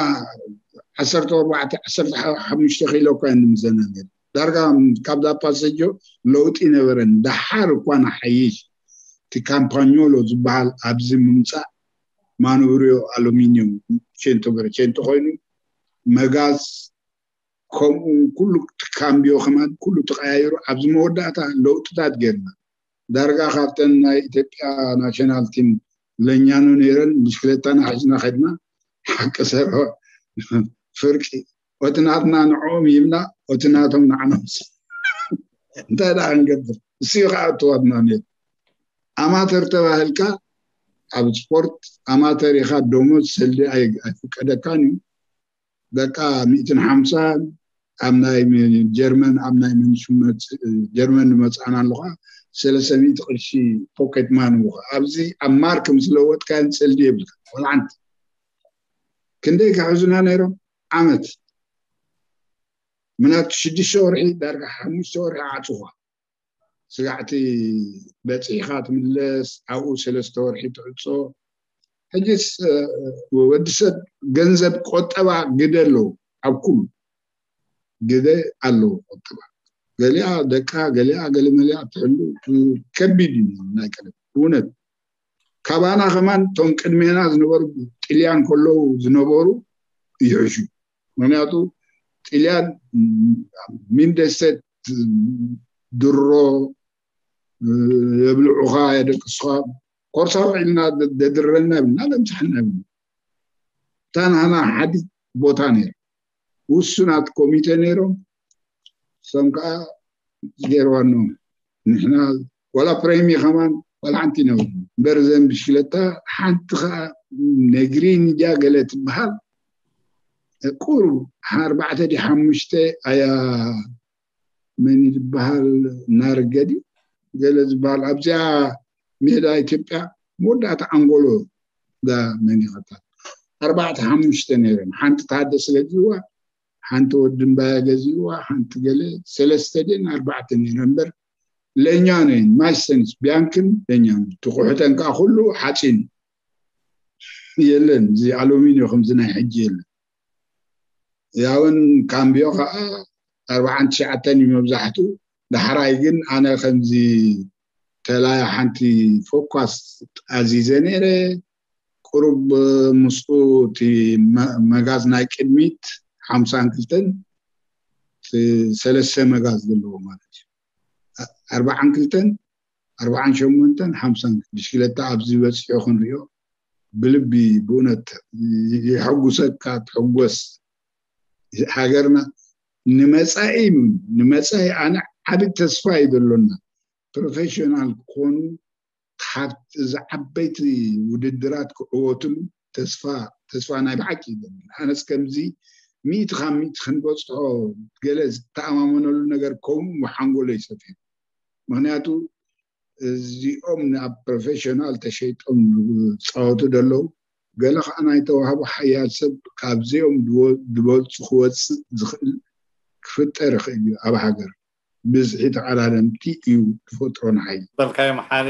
ዓሰርተ ኣርባዕተ ዓሰርተ ሓሙሽተ ኪሎ እኳ ንምዘና ነይሩ። ዳርጋ ካብዛ ፓሰጆ ለውጢ ነበረን። ደሓር እኳ ንሓይሽ እቲ ካምፓኞሎ ዝበሃል ኣብዚ ምምፃእ ማኑብሪዮ ኣሉሚኒየም ቼንቶ በረቼንቶ ኮይኑ መጋዝ ከምኡ ኩሉ ካምቢዮ ከማን ኩሉ ተቀያይሩ ኣብዚ መወዳእታ ለውጥታት ጌርና። ዳርጋ ካብተን ናይ ኢትዮጵያ ናሽናል ቲም ለኛኑ ነይረን ብሽክለታና ሒዝና ከድና ሓቂ ሰሮ ፍርቂ ኦቲ ናትና ንዕኦም ይብና ኦቲ ናቶም ንዓኖም እንታይ ደኣ ክንገብር እሱ ከዓ እትዋትና ነይሩ። ኣማተር ተባህልካ ኣብ ስፖርት ኣማተር ኢኻ፣ ደሞዝ ሰልዲ ኣይፍቀደካን እዩ። ደቃ ሚእትን ሓምሳን ኣብ ናይ ጀርመን ኣብ ናይ መንሽመት ጀርመን ንመፅኣና ኣለኳ ሰለስተ ሚእቲ ቅርሺ ፖኬት ማን ምኳ ኣብዚ ኣብ ማርክ ምስ ለወጥካዮን ሰልዲ የብልካ ወላ ሓንቲ። ክንደይ ክሕዙና ነይሮም ዓመት ምናት ሽዱሽተ ወርሒ ዳርጋ ሓሙሽተ ወርሒ ዓፅኳ ስጋዕቲ በፂሕካ ትምለስ ኣብኡ ሰለስተ ወርሒ ትዕፆ። ሕጅስ ወዲ ሰብ ገንዘብ ቆጠባ ግደ ኣለዎ ኣብ ኩሉ ግደ ኣለዎ ቆጠባ። ገሊኣ ደቃ ገሊኣ ገለመሊኣ ትሕሉ ከቢድ እዩ ናይ ቀደም እውነት። ካባና ከማን እቶም ቅድሜና ዝነበሩ ጥልያን ከለዉ ዝነበሩ ይሕሹ። ምክንያቱ ጥልያን ሚንደሰት ድሮ የብልዑኻ የደቅስኻ ኮርሳ ውዒልና ደድረና ብና ለምፅሐና ብ እታ ናና ሓዲ ቦታ ነይሩ ውሱናት ኮሚቴ ነይሮም እሶም ከዓ ገይርዋኖም ንሕና ዋላ ፕሬሚ ከማን ዋላ ሓንቲ ይነብሩ እምበር ዘን ብሽክለታ ሓንቲ ከዓ ነግሪን እያ ገለ ትበሃል ቁሩብ ኣርባዕተ ዲ ሓሙሽተ ኣያ መን ዝበሃል ናርገዲ ገለ ዝበሃል ኣብዚኣ ሜዳ ኢትዮጵያ መወዳእታ ኣንጎሎ ዳ መን ይኸታ ኣርባዕተ ሓሙሽተ ነይረን ሓንቲ ታደሰ ገዚእዋ ሓንቲ ወዲ እምባያ ገዚእዋ ሓንቲ ገለ ሰለስተ ደን ኣርባዕተ ነይረን እምበር ለኛ ነይን ማይሰንስ ቢያንክን ለኛ ትኩሕተን ከዓ ኩሉ ሓፂን የለን እዚ ኣሉሚኒዮ ከምዚ ናይ ሕጂ የለን ያውን ካምቢዮ ከዓ ኣርባዓን ትሽዓተን እዩ መብዛሕትኡ ዳሕራይ ግን ኣነ ከምዚ ተላያ ሓንቲ ፎኳስ ኣዚዘ ነይረ ቁሩብ ምስኡ እቲ መጋዝ ናይ ቅድሚት ሓምሳን ክልተን ሰለስተ መጋዝ ዘለዎ ማለት እዩ ኣርባዓን ክልተን ኣርባዓን ሸሞንተን ሓምሳን ብሽክለታ ኣብዚ በፂሑ ክንሪኦ ብልቢ ብእውነት ይሐጉሰካ ትሕጎስ ሃገርና ንመፃኢ ንመፃኢ ኣነ ዓብ ተስፋ እዩ ዘሎና ፕሮፌሽናል ክኾኑ ካብ ዝዓበይቲ ውድድራት ክዕወትሉ ተስፋ ተስፋ ናይ ብሓቂ እዩ ዘሎና ኣነስ ከምዚ ሚእቲ ካብ ሚእቲ ክንበፅሖ ገለ ዝተኣማመነሉ ነገር ከምኡ ሓንጎሎ ይሰፊ ምክንያቱ እዚኦም ናብ ፕሮፌሽናል ተሸይጦም ዝፃወቱ ደለዉ ገለ ከዓ ናይ ተዋህቡ ሓያል ሰብ ካብዚኦም ዝበልፁ ክወፅእ ዝኽእል ክፍጠር ይኽእል እዩ ኣብ ሃገር ብዝሒ ተቐዳደምቲ እዩ ተፈጥሮ ንሓይ በልካዮም ሓሪ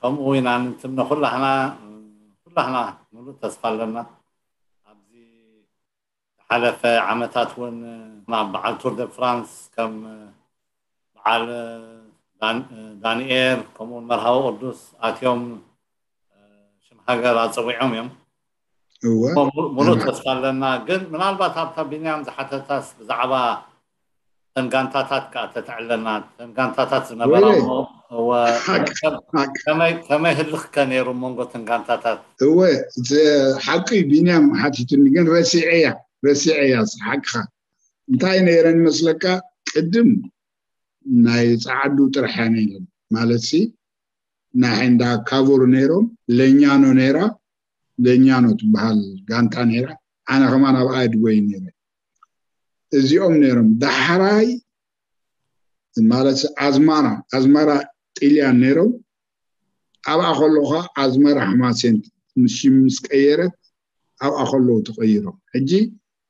ከምኡ ኢና ንትምነ ኩላህና ኩላህና ሙሉእ ተስፋ ኣለና ኣብዚ ዝሓለፈ ዓመታት እውን ናብ በዓል ቱር ደ ፍራንስ ከም በዓል ዳንኤል ከምኡውን መርሃዊ ቅዱስ ኣትዮም ሽም ሃገር ኣፀዊዖም እዮም እወ ሙሉእ ተስፋ ኣለና። ግን ምናልባት ኣብታ ቢንያም ዝሓተታስ ብዛዕባ ተን ጋንታታት ከዓ ተተዕለና፣ ተን ጋንታታት ዝነበራ እሞ ከመይ ህልኽ ከ ነይሩ መንጎ ተን ጋንታታት? እወ ሓቂ ቢንያም ሓቲቱኒ፣ ግን ረሲዐያ ረሲዐያ ሓቅኻ። እንታይ ነይረን መስለካ? ቅድም ናይ ጸዓዱ ጥራሕ ነይረን ማለት ሲ ናይ ሕንዳ ካቮር ነይሮም፣ ለኛኖ ነይራ፣ ለኛኖ ትበሃል ጋንታ ነይራ። ኣነ ከማን ኣብኣ ድጎይ ነይረ። እዚኦም ነይሮም። ዳሕራይ ማለት ኣዝማራ ኣዝማራ ጥልያን ነይሮም። ኣብኣ ከለኻ ኣዝማራ ሕማሴን ምስ ሽም ምስ ቀየረት ኣብኣ ከለዉ ተቐይሮም። ሕጂ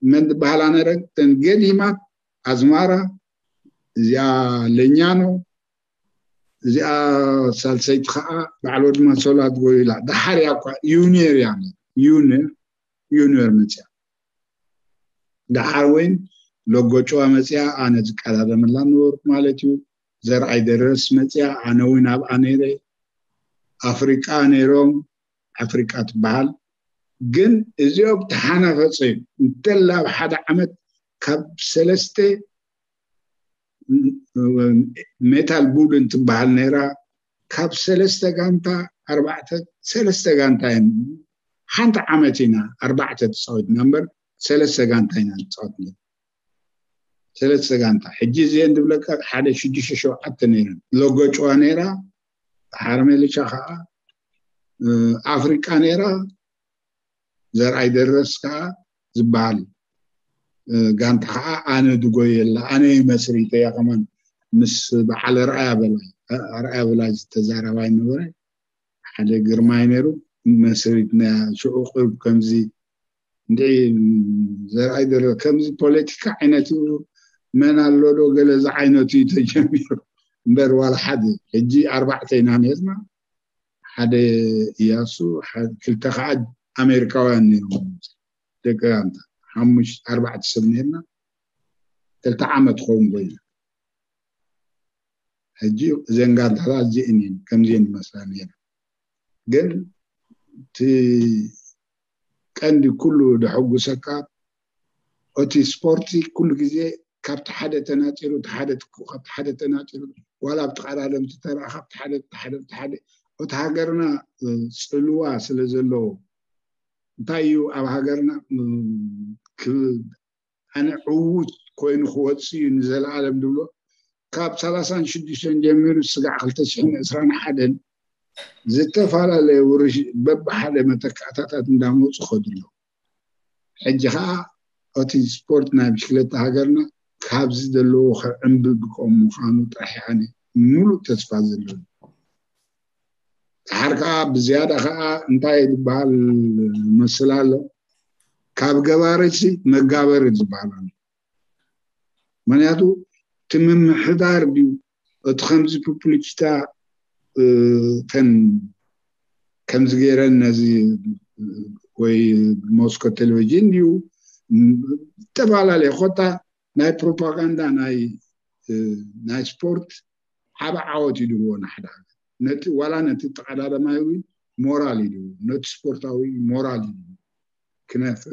መን ዝበሃላ ነረ? ተን ገዲማት ኣዝማራ፣ እዚኣ ለኛኖ፣ እዚኣ ሳልሰይቲ ከዓ ባዕሎ ድማ ሶላት ጎይላ። ዳሓር እያ እኳ ዩኒየር እያ ዩኒየር ዩኒየር መፅያ። ዳሓር ወይን ሎጎ ጨዋ መፅያ፣ ኣነ ዝቀዳደመላ ነበርኩ ማለት እዩ። ዘርኣይ ደረስ መፅያ፣ ኣነ እውን ኣብኣ ነይረ። ኣፍሪቃ ነይሮም፣ ኣፍሪቃ ትበሃል። ግን እዚኦም ተሓናፈፀ እዩ እንተላ ኣብ ሓደ ዓመት ካብ ሰለስተ ሜታል ቡል እንትበሃል ነይራ። ካብ ሰለስተ ጋንታ ኣርባዕተ ሰለስተ ጋንታ እዮም። ሓንቲ ዓመት ኢና ኣርባዕተ ተፃወትና እምበር ሰለስተ ጋንታ ኢና ንፃወት ነይሩ። ሰለስተ ጋንታ። ሕጂ እዚአን ዝብለካ ሓደ ሽዱሽተ ሸውዓተ ነይረን። ሎጎ ጨዋ ነይራ፣ ሓርሜልቻ ከዓ ኣፍሪቃ ነይራ። ዘርኣይ ደረስ ከዓ ዝበሃል ጋንታ ከዓ ኣነ ድጎየላ፣ ኣነ መስሪተያ። ከማን ምስ በዓል ኣርኣያ በላይ ኣርኣያ በላይ ዝተዛረባ ይነበረ። ሓደ ግርማይ ነይሩ። መስሪትና ሽዑ ቅርብ ከምዚ እንድዒ ዘርኣይ ደረ ከምዚ ፖለቲካ ዓይነት እዩ፣ መን ኣሎ ዶ ገለ ዝዓይነቱ እዩ ተጀሚሩ እምበር ዋላ ሓደ። ሕጂ ኣርባዕተ ኢና ነርና። ሓደ እያሱ፣ ክልተ ከዓ ኣሜሪካውያን ነይሮም። ደቂ ጋንታ ሓሙሽተ ኣርባዕተ ሰብ ነርና። ክልተ ዓመት ክኸውን ኮይኑ ሕጂ እዘን ጋንታታት እዚአን እየን ከምዚአን ይመስላ ነይረን። ግን እቲ ቀንዲ ኩሉ ደሐጉሰካ እቲ ስፖርቲ ኩሉ ግዜ ካብቲ ሓደ ተናፂሩ እቲ ሓደ ትኩ ካብቲ ሓደ ተናፂሩ ዋላ ኣብቲ ቀዳደምቲ ተራ ካብቲ ሓደ እቲ ሓደ እቲ ሓደ እቲ ሃገርና ፅልዋ ስለ ዘለዎ እንታይ እዩ ኣብ ሃገርና ኣነ ዕዉት ኮይኑ ክወፅእ እዩ ንዘለኣለም ዝብሎ ካብ ሰላሳን ሽዱሽተን ጀሚሩ ስጋዕ ክልተ ሽሕን ዕስራን ሓደን ዝተፈላለየ ውርሽ በብሓደ መተካእታታት እንዳመፁ ከድሎ። ሕጂ ከዓ እቲ ስፖርት ናይ ብሽክለታ ሃገርና ካብዚ ዘለዎ ክዕንብብ ብቆም ምዃኑ ጥራሕ ኣነ ሙሉእ ተስፋ ዘለዎ። ድሓር ከዓ ብዝያዳ ከዓ እንታይ ዝበሃል መስል ኣሎ፣ ካብ ገባሪሲ መጋበሪ ዝበሃል ኣሎ። ምክንያቱ እቲ ምምሕዳር ድዩ እቲ ከምዚ ፖፕሊሲታ ተን ከምዚ ገይረን ነዚ ወይ ሞስኮ ቴሌቪዥን ድዩ ዝተፈላለየ ኮታ ናይ ፕሮፓጋንዳ ናይ ናይ ስፖርት ዓበ ዓወት ይድህቦ ንሓደ ሃገር ነቲ ዋላ ነቲ ተቀዳደማይ እውን ሞራል ይድህቦ ነቲ ስፖርታዊ ሞራል ይድህቦ ክነፍዕ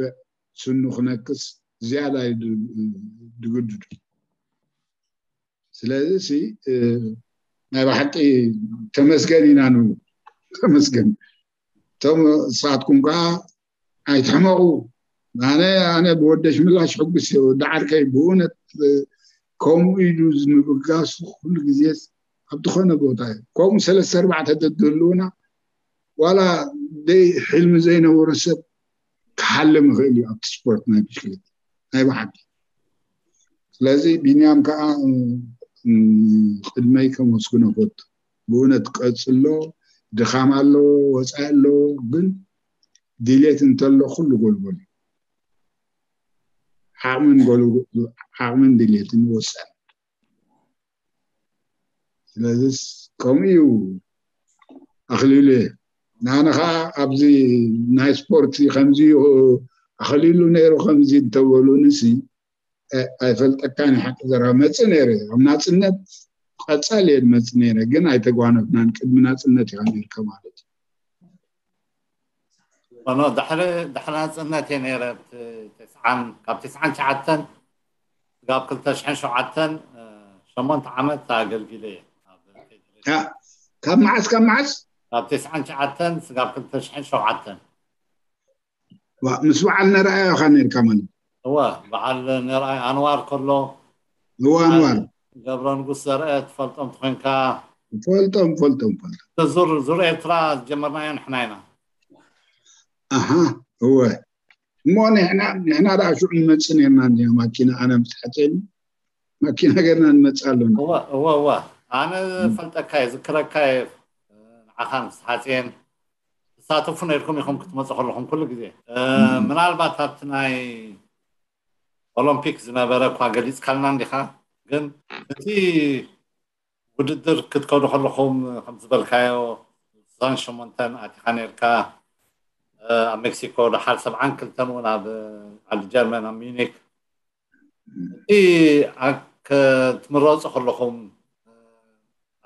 ስኑ ክነክስ ዝያዳ ድግድዱ። ስለዚ ሲ ናይ ብሓቂ ተመስገን ኢና ንብሉ። ተመስገን። እቶም ንስኻትኩም ከዓ ኣይትሕመቑ። ኣነ ኣነ ብወደሽ ምላሽ ሕጉስ እየ። ወዲ ዓርከይ ብእውነት ከምኡ ኢሉ ንምብጋሱ ኩሉ ግዜ ኣብ ዝኾነ ቦታ እዩ። ከምኡ ሰለስተ ኣርባዕተ ተትህልውና ዋላ ደይ ሕልሚ ዘይነበሮ ሰብ ክሓልም ይኽእል እዩ ኣብቲ ስፖርት ናይ ብሽክሌት ናይ ብሓቂ። ስለዚ ቢንያም ከዓ ቅድመይ ከመስግኖ ፈቱ። ብእውነት ቀፅሎ። ድኻም ኣለዎ፣ ወፃኢ ኣለዎ፣ ግን ድሌት እንተሎ ኩሉ ጎልጎል እዩ። ዓቕምን ዓቕምን ድሌትን ወሳኒ። ስለዚስ ከምኡ እዩ ኣኽሊሉ። ንኣነ ከዓ ኣብዚ ናይ ስፖርት ከምዚ ኣኽሊሉ ነይሩ ከምዚ እንተበሉንሲ ኣይፈልጠካን ሓቂ ዘረባ መፅእ ነይረ ኣብ ናፅነት ቀፃል እየ መፅእ ነይረ ግን ኣይተጓነፍናን ቅድሚ ናፅነት ኢኻ ነይርካ ማለት እዩ። ኖ፣ ድሕሪ ድሕሪ ናፅነት እየ ነይረ። ብቲ-፣ ተስዓን ካብ ተስዓን ትሽዓተን ስጋብ ክልተ ሽሕን ሸውዓተን ሸሞንተ ዓመት ኣገልጊለ እየ ኣብ ፌዴሬሽን። ካብ መዓስ ካብ መዓስ? ካብ ተስዓን ትሽዓተን ስጋብ ክልተ ሽሕን ሸውዓተን። ምስ በዓል ነርኣዮ ኢኻ ነርካ ማለት? እወ፣ በዓል ነርኣይ ኣንዋር ከሎ፣ እወ፣ ኣንዋር። ገብረ ንጉስ ዘርአ ትፈልጦም ትኾንካ። ፈልጦም ፈልጦም ፈልጦም። ዙር ዙር ኤርትራ ዝጀመርናዮ ንሕና ኢና። ኣሃ፣ እወ። እሞ ንሕና ንሕና ደኣ ሽዑ ንመጽእ ነርና፣ እንዲያ ማኪና ኣነ ምስ ሓጨኒ ማኪና ገርና ንመጽእ ኣለና። እወ እወ እወ። ኣነ ፈልጠካ እየ፣ ዝክረካ እየ። ንዓኻ ምስ ሓፅየን ትሳተፉ ነርኩም ኢኹም ክትመፁ ከለኹም ኩሉ ግዜ። ምናልባት ኣብቲ ናይ ኦሎምፒክ ዝነበረ እኳ ገሊፅካልና እንዲኻ፣ ግን እቲ ውድድር ክትከዱ ከለኹም ከም ዝበልካዮ ስሳን ሸሞንተን ኣቲኻ ነርካ። ኣብ ሜክሲኮ ደሓር ሰብዓን ክልተን እውን ኣብ ዓዲ ጀርመን ኣብ ሚኒክ እቲ ክትምረፁ ከለኹም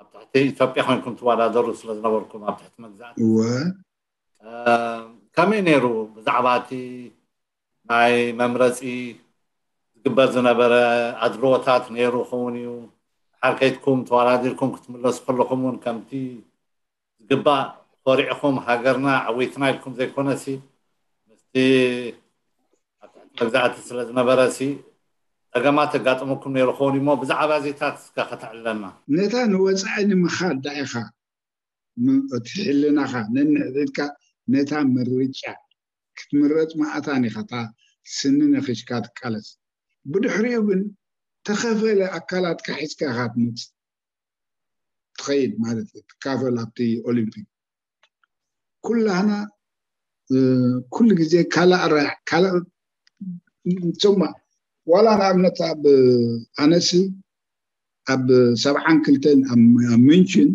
ኣብ ትሕቲ ኢትዮጵያ ኮይንኩም ትወዳደሩ ስለ ዝነበርኩም ኣብ ትሕቲ መግዛእቲ ከመይ ነይሩ? ብዛዕባ እቲ ናይ መምረፂ ዝግበር ዝነበረ ኣድልዎታት ነይሩ ክኸውን እዩ። ድሓር ከይድኩም ተወዳዲርኩም ክትምለሱ ከለኹም እውን ከምቲ ዝግባእ ኮሪዕኹም ሃገርና ዓዊትና ኢልኩም ዘይኮነሲ ምስቲ ኣብ ትሕቲ መግዛእቲ ስለ ዝነበረሲ ፀገማት ኣጋጥመኩም ነይሩ ክኸውን እሞ ብዛዕባ እዚታት እስከ ከተዕልለና። ነታ ንወፃኢ ንምኻድ ዳኢኻ እቲ ሕልናኻ ነንሕድሕድካ ነታ ምርጫ ክትምረፅ መኣታን ኢኻ እታ ስኒ ነኺስካ ትቃለስ። ብድሕሪኡ ግን ተኸፈለ ኣካላትካ ሒዝካ ኢኻ ትመፅእ ትኸይድ ማለት እዩ። ትካፈል ኣብቲ ኦሊምፒክ ኩላህና ኩሉ ግዜ ካልእ ኣራያ ካልእ ሶማ ዋላ ንኣብነት ኣብ ኣነሲ ኣብ ሰብዓን ክልተን ኣብ ምንችን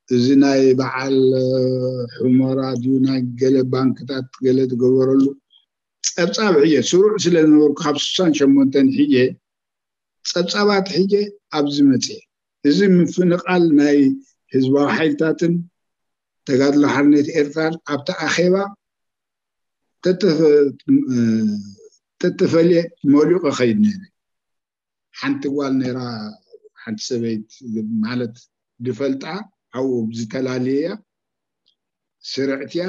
እዚ ናይ በዓል ሑመራ ድዩ ናይ ገለ ባንክታት ገለ ትገበረሉ ፀብፃብ ሕየ ስሩዕ ስለ ዝነበርኩ ካብ ስሳን ሸሞንተን ሕየ ፀብፃባት ሕየ ኣብዚ መፅየ። እዚ ምፍንቓል ናይ ህዝባዊ ሓይልታትን ተጋድሎ ሓርነት ኤርትራን ኣብቲ ኣኼባ ተተፈ- ተተፈልየ መሊቑ ኸይድ ነይረ። ሓንቲ ጓል ነይራ፣ ሓንቲ ሰበይት ማለት ድፈልጣ ኣብኡ ዝተላለየያ ስርዕትያ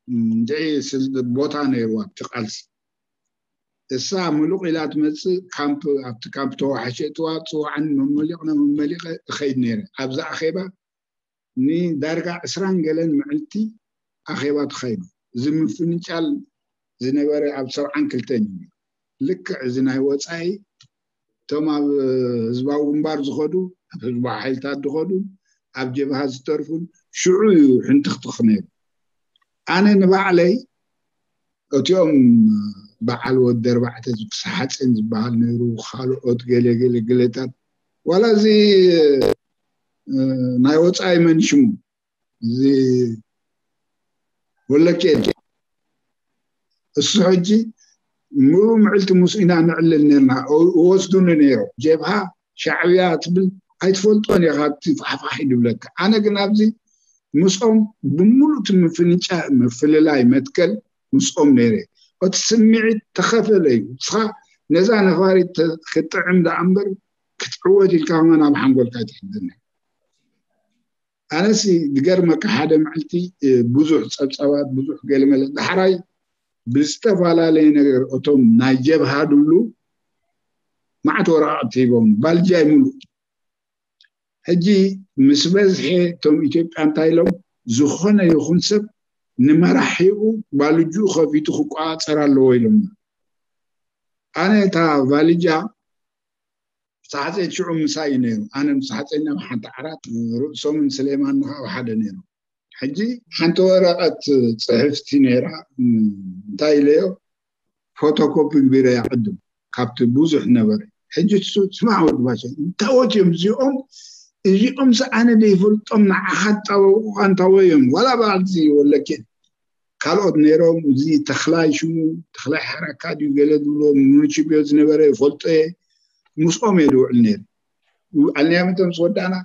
እንድዒ ስል- ቦታ ነይርዋ ኣብቲ ቃልሲ። እሳ ምሉቕ ኢላ ትመፅእ ካምፕ ኣብቲ ካምፕ ተዋሕሸ እትዋ ፅዋዕን መመሊቕና መመሊቐ እኸይድ ነይረ። ኣብዚ ኣኼባ ንዳርጋ ዕስራን ገለን መዕልቲ ኣኼባ ተኻይዱ። እዚ ምፍንጫል ዝነበረ ኣብ ሰብዓን ክልተን እዩ። ልክዕ እዚ ናይ ወፃኢ እቶም ኣብ ህዝባዊ ግንባር ዝኸዱ ኣብ ህዝባዊ ሓይልታት ዝኸዱ ኣብ ጀብሃ ዝተርፉን ሽዑ እዩ ሕንትኽትኽ ነይሩ። ኣነ ንባዕለይ እቲኦም በዓል ወዲ ኣርባዕተ ዝኩስ ሓፂን ዝበሃል ነይሩ ካልኦት ገለ ገለ ግለታት ዋላ እዚ ናይ ወፃኢ መን ሽሙ እዚ ወለኬድ እሱ ሕጂ ምሉ ምዕልቲ ምስ ኢና ንዕልል ነርና ወስዱኒ ነይሮም ጀብሃ ሻዕብያ ትብል ኣይትፈልጦን ኢኻ እቲ ፋሕፋሕ ይድብለካ ኣነ ግን ኣብዚ ምስኦም ብምሉእ እቲ ምፍንጫ ምፍልላይ መትከል ምስኦም ነይረ እቲ ስምዒት ተኸፈለ እዩ እስኻ ነዛ ነፋሪት ክትጥዕም ደኣ እምበር ክትዕወት ኢልካ ከማን ኣብ ሓንጎልካ ኣይትሕድርን ኣነሲ ዝገርመካ ሓደ መዓልቲ ብዙሕ ፀብፃባት ብዙሕ ገለመለ ዳሕራይ ብዝተፈላለየ ነገር እቶም ናይ ጀብሃ ድብሉ መዓት ወረቃቅቲ ሂቦም ባልጃ ይምሉ ሕጂ ምስ በዝሐ እቶም ኢትዮጵያ እንታይ ኢሎም ዝኾነ ይኹን ሰብ ንመራሒኡ ባልጅኡ ከፊቱ ክቆፃፀር ኣለዎ ኢሎም ኣነ እታ ቫልጃ ሳሕፀይ ሽዑ ምሳይ እዩ ነይሩ ኣነ ምስ ሓፀይና ሓንቲ ዓራት ርእሶምን ስሌማን ንካ ሓደ ነይሩ ሕጂ ሓንቲ ወረቀት ፅሕፍቲ ነይራ እንታይ ኢለዮ ፎቶኮፒ ግቢረ ያቅድም ካብቲ ብዙሕ ነበረ ሕጂ እሱ ስማዕ ወዲ ባሸ እንታወት እዮም እዚኦም እዚኦም ኣነ ዘይፈልጦም ንዓኻ ጣበቁ ኣንታወ እዮም ዋላ በዓልቲ ወለኬት ካልኦት ነይሮም እዚ ተኽላይ ሽሙ ተኽላይ ሓራካ ድዩ ገለ ዝብሎ ሙኒሽብዮ ዝነበረ ይፈልጦ እየ ምስኦም እየ ዝውዕል ነይሩ ኣልኒያሚቶ ምስ ወዳእና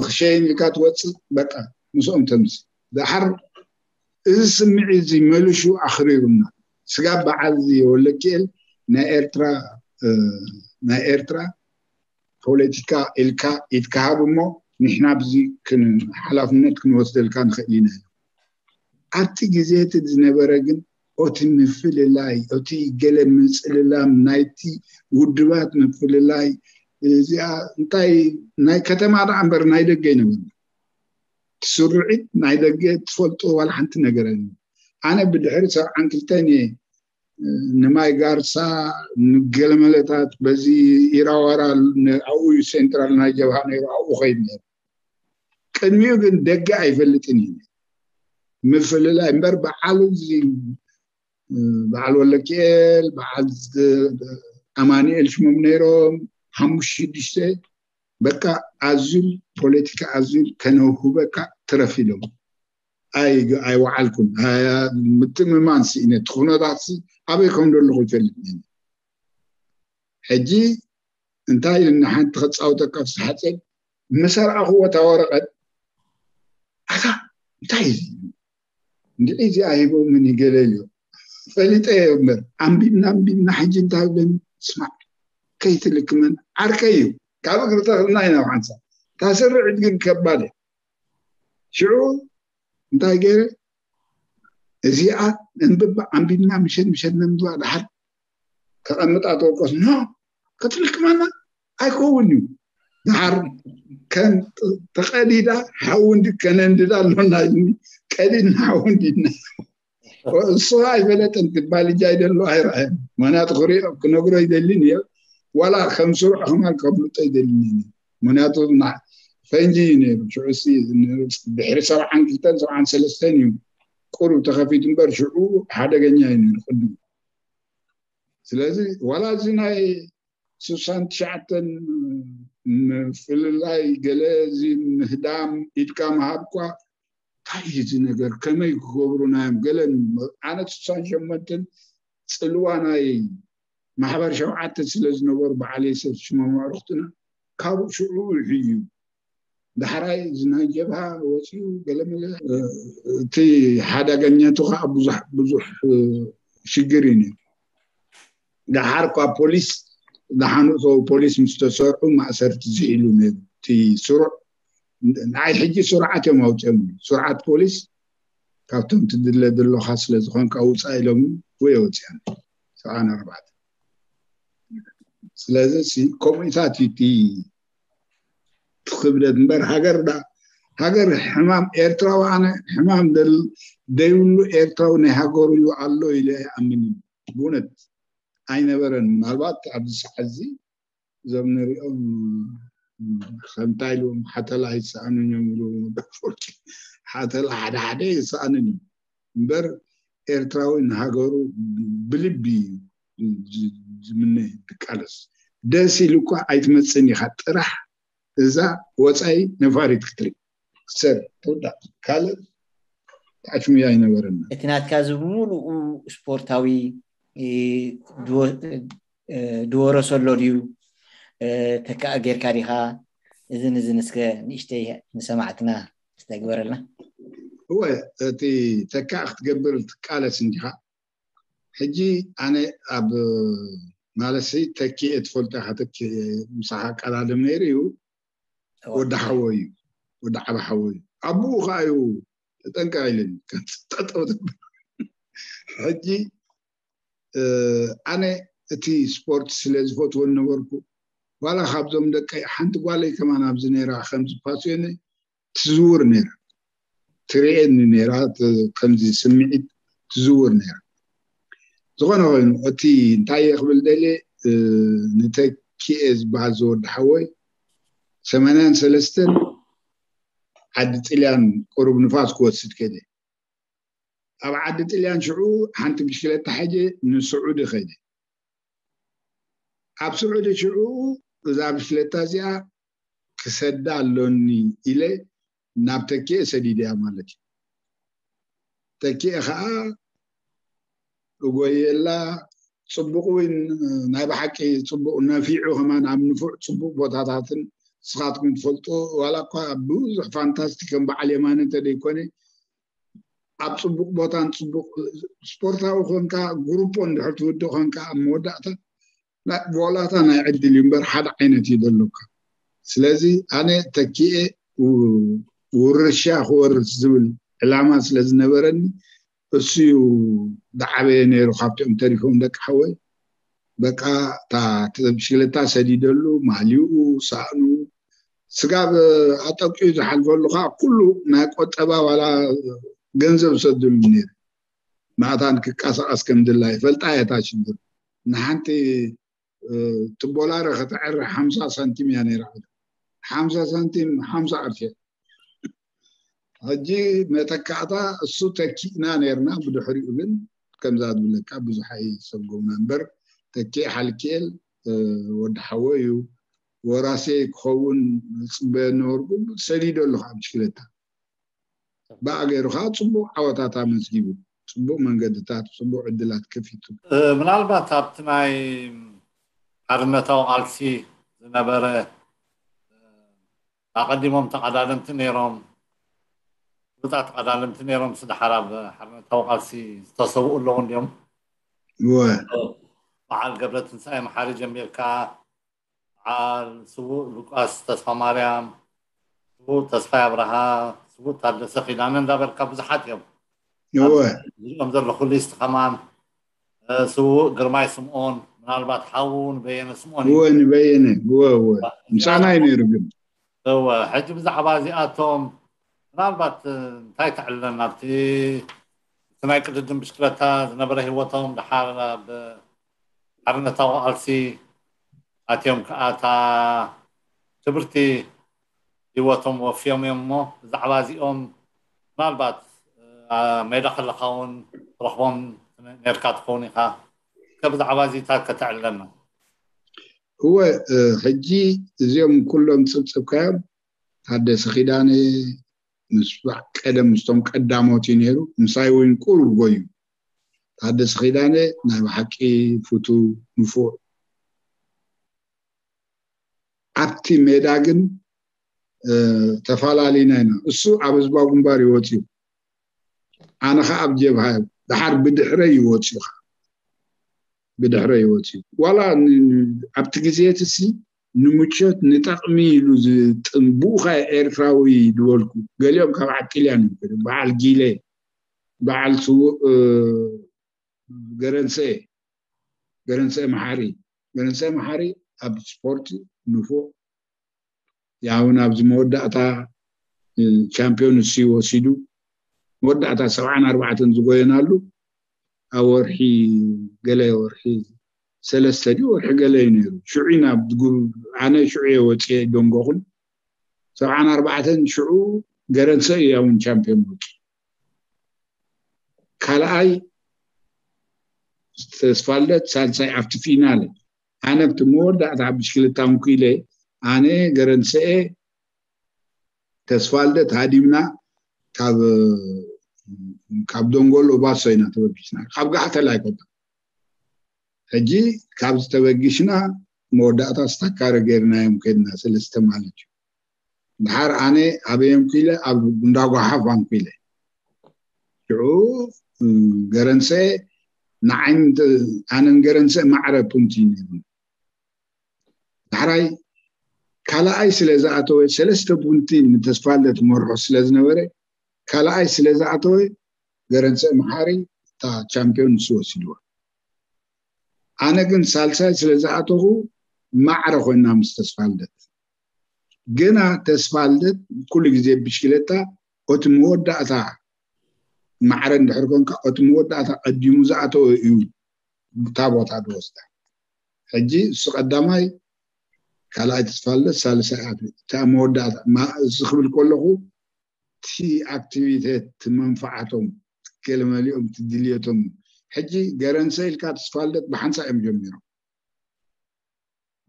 ክሸይን ኢልካ ትወፅእ በቃ ምስኦም ተምስ ዳሓር እዚ ስምዒት እዚ መሊሹ ኣኽሪሩና። ስጋብ በዓል እዚ ወለኪኤል ናይ ኤርትራ ናይ ኤርትራ ፖለቲካ ኢልካ ኢትካሃብ እሞ ንሕና ብዚ ሓላፍነት ክንወስደልካ ንኽእል ኢና። ኣብቲ ግዜ እቲ ዝነበረ ግን ኦቲ ምፍልላይ ኦቲ ገለ ምጽልላም ናይቲ ውድባት ምፍልላይ እዚኣ እንታይ ናይ ከተማ ደኣ እምበር ናይ ደገ ይነበርና። ስርዒት ናይ ደገ ትፈልጦ ዋላ ሓንቲ ነገር ኣነ ብድሕሪ ሰብዓን ክልተን እየ ንማይ ጋርሳ ንገለመለታት በዚ ኢራዋራ ኣብኡ እዩ ሴንትራል ናይ ጀብሃ ነይሩ ኣብኡ ኸይድ ነይሩ። ቅድሚኡ ግን ደገ ኣይፈልጥን እዩ ምፍልላይ እምበር በዓሉ በዓል ወለኪኤል በዓል ኣማኒኤል ሽሞም ነይሮም ሓሙሽተ ሽዱሽተ በቃ ኣዙል ፖለቲካ ኣዙል ከነውህበካ ትረፍ ኢሎም ኣይወዓልኩን። ምትምማን ስኢነ እቲ ኩነታት ኣበይ ከም ዘለኹ ይፈልጥ። ሕጂ እንታይ ኢልና ሓንቲ ከፃውተካ ፍስሓፀ መሰርኣኽዎ እታ ወረቐት ኣታ እንታይ እዚ እንድዒ እዚኣ ሂቦምን ይገለልዮ ፈሊጠ እምበር ኣንቢብና ኣንቢብና ሕጂ እንታይ ብለኒ ስማዕ ከይትልክመን ዓርከይ እዩ ካብ እግሪ ተኽልና ኢና ሓንሳ ታስርዕት ግን ከባድ እያ ሽዑ እንታይ ገይረ እዚኣ እንብባ ኣንቢብና ምሸት ምሸት ነንብባ ድሓር ተቐምጣ ተወቀስ ኖ ክትልክመና ኣይከውን እዩ ድሓር ከም ተቐዲዳ ሓዊ እንዲ ከነንድዳ ኣሎና ኢልኒ ቀዲድና ሓዊ እንዲድና እሱ ኣይፈለጠን ትባል እጃ ይደሎ ኣይረኣየን ምክንያቱ ክሪኦ ክነግሮ ይደልን እየ ዋላ ከም ስሩዕ ከማን ከብልጦ ይደልን እዩ ምክንያቱ ፈንጂ እዩ ነይሩ ሽዑ ድሕሪ ሰብዓን ክልተን ሰብዓን ሰለስተን እዩ ቁሩብ ተኸፊቱ እምበር ሽዑ ሓደገኛ እዩ ነይሩ ቅድም ስለዚ ዋላ እዚ ናይ ስሳን ትሽዓተን ምፍልላይ ገለ እዚ ምህዳም ኢድካ ምሃብ እኳ እንታይ እዩ እዚ ነገር ከመይ ክገብሩና እዮም ገለ ኣነ ስሳን ሸመንተን ፅልዋ ናይ ማሕበር ሸውዓተ ስለ ዝነበሩ በዓል የሰፍ ሽሞም ኣዕሩኽትና ካብ ሽዑ እዩ ዳሕራይ እዚ ናይ ጀብሃ ወፂኡ ገለመለ እቲ ሓዳገኛቱ ከዓ ብዙሕ ብዙሕ ሽግር እዩ ነይሩ። ዳሓር እኳ ፖሊስ ዝሓንፆ ፖሊስ ምስ ተሰርዑ ማእሰርቲ ዝኢሉ ነይሩ። እቲ ስሩዕ ንዓይ ሕጂ ስሩዓት እዮም ኣውፅኦም። ስሩዓት ፖሊስ ካብቶም ትድለ ዘለኻ ስለ ዝኾንካ ውፃእ ኢሎም ወይ ወፅያን ሰብዓን ኣርባዕተን ስለዚ ከምኡታት እዩ እቲ ክብደት እምበር ሃገር ዳ ሃገር ሕማም ኤርትራዊ ኣነ ሕማም ደይብሉ ኤርትራዊ ናይ ሃገሩ እዩ ኣሎ ኢለ ኣይኣምን እዩ ብእውነት ኣይነበረን ምናልባት ኣብዚ ሰዓት እዚ እዞም ንሪኦም ከምታይ ኢልዎም ሓተላ ኣይሰኣኑን እዮም ኢሉ ወዲ ኣፈወርቂ ሓተላ ሓደ ሓደ ይሰኣኑን እዮም እምበር ኤርትራዊ ንሃገሩ ብልቢ እዩ ዝምነ ዝቃለስ ደስ ኢሉ እኳ ኣይትመፅን ኢኻ ጥራሕ እዛ ወፃኢ ነፋሪት ክትርኢ ክትሰር ትውዳእ ካልእ ኣሽሙያ ኣይነበረና እቲ ናትካ እዚ ብምሉኡ ስፖርታዊ ድወረሰሎ ድዩ ተካእ ጌርካ ዲኻ እዝን እዝን እስከ ንእሽተይ ንሰማዕትና ዝተግበረልና እወ እቲ ተካእ ክትገብር ትቃለስ እንዲኻ ሕጂ ኣነ ኣብ ማለሲ ተኪኤ ትፈልጦ ኢኻ ተኪኤ ምሳኻ ቀዳድም ነይሩ እዩ ወዲ ሓወ እዩ ወዲ ዓበ ሓወ እዩ ኣቡኡ ከዓ እዩ ተጠንቀቕ ኢለኒ ጠጠው ትብል ሕጂ ኣነ እቲ ስፖርት ስለ ዝፈትዎ ነበርኩ ዋላ ካብዞም ደቀይ ሓንቲ ጓለይ ከማን ኣብዚ ነይራ ከምዚ ፓስዮኒ ትዝውር ነይራ ትርእየኒ ነይራ ከምዚ ስምዒት ትዝውር ነይራ ዝኾነ ኮይኑ እቲ እንታይ እየ ክብል ደልየ ንተኪኤ ዝበሃል ዝወዲ ሓወይ ሰማንያን ሰለስተን ዓዲ ጥልያን ቁሩብ ንፋስ ክወስድ ከደ ኣብ ዓዲ ጥልያን ሽዑ ሓንቲ ብሽክለታ ሐጀ ንስዑዲ ኸይደ ኣብ ስዑዲ ሽዑ እዛ ብሽክለታ እዚኣ ክሰዳ ኣሎኒ ኢለ ናብ ተኪኤ ሰዲደያ ማለት እዩ ተኪኤ ከዓ እጎየላ ፅቡቅ እውን ናይ ብሓቂ ፅቡቅ ነፊዑ ከማን ኣብ ንፉዕ ፅቡቅ ቦታታትን ንስኻትኩም ትፈልጦ ዋላ እኳ ብዙሕ ፋንታስቲ ከም በዓል የማነ እንተደይኮነ ኣብ ፅቡቕ ቦታን ፅቡቕ ስፖርታዊ ኮንካ ግሩፖ እንድሕር ትውድእ ኮንካ ኣብ መወዳእታ ናይ- ብወላታ ናይ ዕድል እዩ እምበር ሓደ ዓይነት እዩ ዘሎካ። ስለዚ ኣነ ተኪኤ ው- ውርሻ ክወርስ ዝብል ዕላማ ስለ ዝነበረኒ እሱ እዩ ዝዓበየ ነይሩ ካብቲኦም ተሪፎም ደቂ ሓወይ። በቃ እታ ብሽክለታ ሰዲደሉ ማሊኡ ሳእኑ ስጋብ ኣጠቂኡ ዝሓልፈሉ ከዓ ኩሉ ናይ ቆጠባ ዋላ ገንዘብ ሰድሉ ነይሩ። ማእታን ክቀሳቀስ ከም ድላ ይፈልጣ እያ እታ ሽግር። ንሓንቲ ትቦላረ ከተዕሪ ሓምሳ ሳንቲም እያ ነይራ። ሓምሳ ሳንቲም ሓምሳ ቅርሺ። ሕጂ መተካእታ እሱ ተኪእና ነርና። ብድሕሪኡ ግን ከምዛ ዝብለካ ብዙሕ ኣይሰጎምና እምበር ተኪእ ሓልኪኤል ወዲ ሓወ እዩ። ወራሴ ክኸውን ዝፅበየ ነበርኩ። ሰዲዶ ኣለኹ ኣብ ብሽክለታ። ብኣ ገይሩ ከዓ ፅቡቅ ዓወታት ኣመዝጊቡ፣ ፅቡቅ መንገድታት፣ ፅቡቅ ዕድላት ከፊቱ። ምናልባት ኣብቲ ናይ ሓርነታዊ ቃልሲ ዝነበረ ኣቐዲሞም ተቐዳደምቲ ነይሮም፣ ፍሉጣት ተቐዳደምቲ ነይሮም ስድሓር ኣብ ሓርነታዊ ቃልሲ ዝተሰውኡ ኣለዉ እንዲዮም። በዓል ገብረ ትንሳኤ መሓሪ ጀሚርካ በዓል ስዉእ ሉቃስ ተስፋ ማርያም፣ ስዉእ ተስፋይ ኣብርሃ፣ ስዉእ ታደሰ ኪዳነ እንዳበልካ ብዙሓት እዮም። እዚኦም ዘለኹ ሊስት ከማን ስዉእ ግርማይ ስምኦን፣ ምናልባት ሓዉ ንበየነ ስምኦን እዩ። እወ ንበየነ እወ እወ ምሳና እዩ ነይሩ። ግን እወ ሕጂ ብዛዕባ እዚኣቶም ምናልባት እንታይ ተዕልለና ኣብቲ ናይ ቅድድም ብሽክለታ ዝነበረ ህይወቶም፣ ደሓር ኣብ ሓርነታዊ ቃልሲ ኣትዮም ከዓ እታ ክብርቲ ህይወቶም ወፍዮም እዮም እሞ ብዛዕባ እዚኦም ምናልባት ሜዳ ከለካ እውን ትረኽቦም ነርካ ትኸውን ኢኻ። ከ ብዛዕባ እዚታት ከተዕልለና። እወ ሕጂ እዚኦም ኩሎም ፅብፅብካዮም ታደሰ ኪዳነ ምስ ቀደም ምስቶም ቀዳሞት እዩ ነይሩ። ምሳይ እውን ቁሩብ ጎዩ። ታደሰ ኪዳነ ናይ ብሓቂ ፍቱ ንፉዕ። ኣብቲ ሜዳ ግን ተፈላለዩና ኢና። እሱ ኣብ ህዝባዊ ግንባር ይወፅዩ፣ ኣነ ከዓ ኣብ ጀብሃ እዩ። ደሓር ብድሕረይ ይወፅዩ ከዓ ብድሕረ ይወፅዩ። ዋላ ኣብቲ ግዜ እቲ ሲ ንምቾት ንጠቕሚ ኢሉ ዝጥንቡኻ ኤርትራዊ ዝበልኩ ገሊኦም ካብ ዓጥልያን ይበሉ። በዓል ጊለ፣ በዓል ስዉእ ገረንሰ፣ ገረንሰ መሓሪ፣ ገረንሰ መሓሪ ኣብ ስፖርት ንፉዕ ያውን ኣብዚ መወዳእታ ቻምፒዮን እሱ ወሲዱ መወዳእታ ሰብዓን ኣርባዕተን ዝጎየናሉ ኣብ ወርሒ ገለ ወርሒ ሰለስተ ድዩ ወርሒ ገለ እዩ ነይሩ። ሽዑ ኢና ኣነ ሽዑ እየ ወፅየ ደንጎኹን ሰብዓን ኣርባዕተን ሽዑ ገረንሰ እዩ ያውን ቻምፒዮን ወፂ ካልኣይ ተስፋልደት ሳልሳይ ኣብቲ ፊናለ ኣነ ኣብቲ መወዳእታ ብሽክለታ እንኩ ኢለ ኣነ ገረንሰኤ ተስፋልደት ሃዲምና ካብ ካብ ደንጎሎ ባሶ ኢና ተበጊስና ካብ ጋሕተል ኣይኮና ሕጂ ካብዚ ተበጊስና መወዳእታ ስታካረ ገይርናዮም ከድና ሰለስተ ማለት እዩ ድሓር ኣነ ኣበየንኩ ኢለ ኣብ እንዳጓሓፍ ኣንኩ ኢለ ሽዑ ገረንሰ ንዓይን ኣነን ገረንሰ ማዕረ ፑንቲ ነይሩ ዳሕራይ ካልኣይ ስለ ዝኣተወ ሰለስተ ቡንቲ ንተስፋለ ትመርሖ ስለ ዝነበረ ካልኣይ ስለ ዝኣተወ ገረንሰ መሓሪ እታ ቻምፒዮን ንሱ ወሲድዋ ኣነ ግን ሳልሳይ ስለ ዝኣተኹ ማዕረ ኮይና ምስ ተስፋልደት ግና ተስፋልደት ኩሉ ግዜ ብሽክለታ እቲ መወዳእታ ማዕረ እንድሕር ኮንካ እቲ መወዳእታ ቀዲሙ ዝኣተወ እዩ እታ ቦታ ዝወስዳ ሕጂ እሱ ቀዳማይ ካልኣይ ተስፋልደት ሳልሳይ ኣትሌት እታ መወዳእታ እዚ ክብል ከለኹ እቲ ኣክቲቪቴት መንፋዓቶም ገለመሊኦም ድልየቶም ሕጂ ገረንሰ ኢልካ ተስፋልደት ብሓንሳ እዮም ጀሚሮም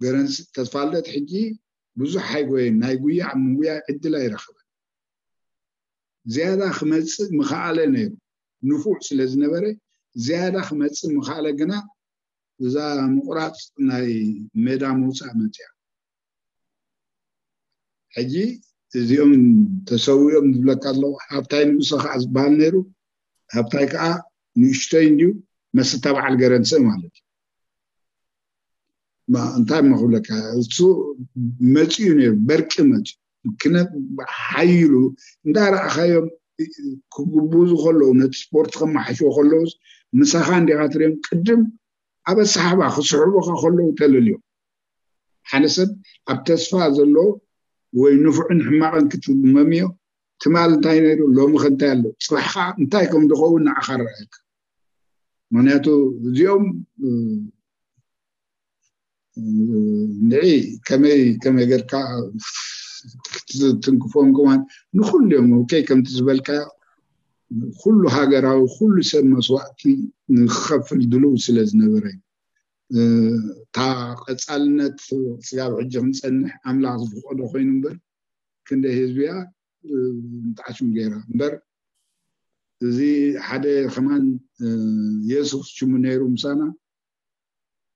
ገረንሰ ተስፋልደት ሕጂ ብዙሕ ኣይጎየን ናይ ጉያ ምጉያ ዕድል ኣይረኸበን ዝያዳ ክመፅእ ምኸኣለ ነይሩ ንፉዕ ስለ ዝነበረ ዝያዳ ክመፅእ ምኸኣለ ግና እዛ ምቁራፅ ናይ ሜዳ ምውፃእ መፅያ ሕጂ እዚኦም ተሰዊኦም ዝብለካ ኣለዉ ሃብታይ ንጉሰ ከዓ ዝበሃል ነይሩ ሃብታይ ከዓ ንእሽቶይ እንድዩ፣ መስታ በዓል ገረንስእ ማለት እዩ። ማ እንታይ እሞ ክብለካ፣ እሱ መፂኡ ነይሩ፣ በርቂ መፂኡ። ክነ ሓይሉ እንዳረኣኻዮም ክጉብዙ ከለዉ፣ ነቲ ስፖርት ከመሓሽዎ ከለዉስ፣ ምሳኻ እንዲኻ ትሪኦም። ቅድም ኣብ ኣሰሓባ ክስሕቡኻ ከለዉ ተለልዮም። ሓደ ሰብ ኣብ ተስፋ ዘሎ ወይ ንፉዕን ሕማቕን ክትመምዮ፣ ትማል እንታይ ነይሩ፣ ሎሚ ከ እንታይ ኣሎ፣ ፅባሕ ከዓ እንታይ ከም ዝኸውን ንዓኻ ረኣየካ። ምክንያቱ እዚኦም ንዒ ከመይ ከመይ ጌርካ ክትትንክፎም ከማን ንኩሉ እዮም። ኦኬ፣ ከምቲ ዝበልካ ኩሉ ሃገራዊ፣ ኩሉ ሰብ መስዋእቲ ንክኸፍል ድልው ስለ ዝነበረ እዩ። እታ ቀጻልነት ስጋብ ሕጂ ክንጸንሕ ኣምላኽ ዝፈቐዶ ኮይኑ እምበር፣ ክንደይ ህዝቢ እያ ንጣዕሽም ገይራ እምበር። እዚ ሓደ ከማን የሱስ ሽሙ ነይሩ ምሳና።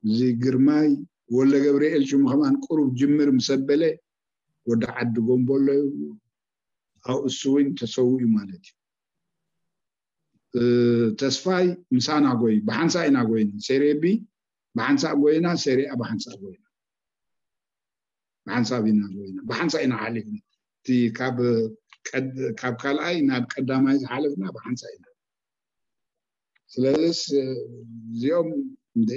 እዚ ግርማይ ወልደ ገብርኤል ሽሙ ከማን ቁሩብ ጅምር ምስ ኣበለ፣ ወዲ ዓዲ ጎምቦሎ እዩ። ኣብኡ እሱ እውን ተሰዊኡ ማለት እዩ። ተስፋይ ምሳና ጎይ፣ ብሓንሳእ ኢና ጎይና። ሴሬ ቢ ብሓንሳእ ጎይና፣ ሴሬ ኣ ብሓንሳእ ጎይና። ብሓንሳብ ኢና ጎይና፣ ብሓንሳእ ኢና ሓሊፍና። እቲ ካብ ቀድ-፣ ካብ ካልኣይ ናብ ቀዳማይ ዝሓለፍና ብሓንሳእ ኢና። ስለዚስ እዚኦም እንደ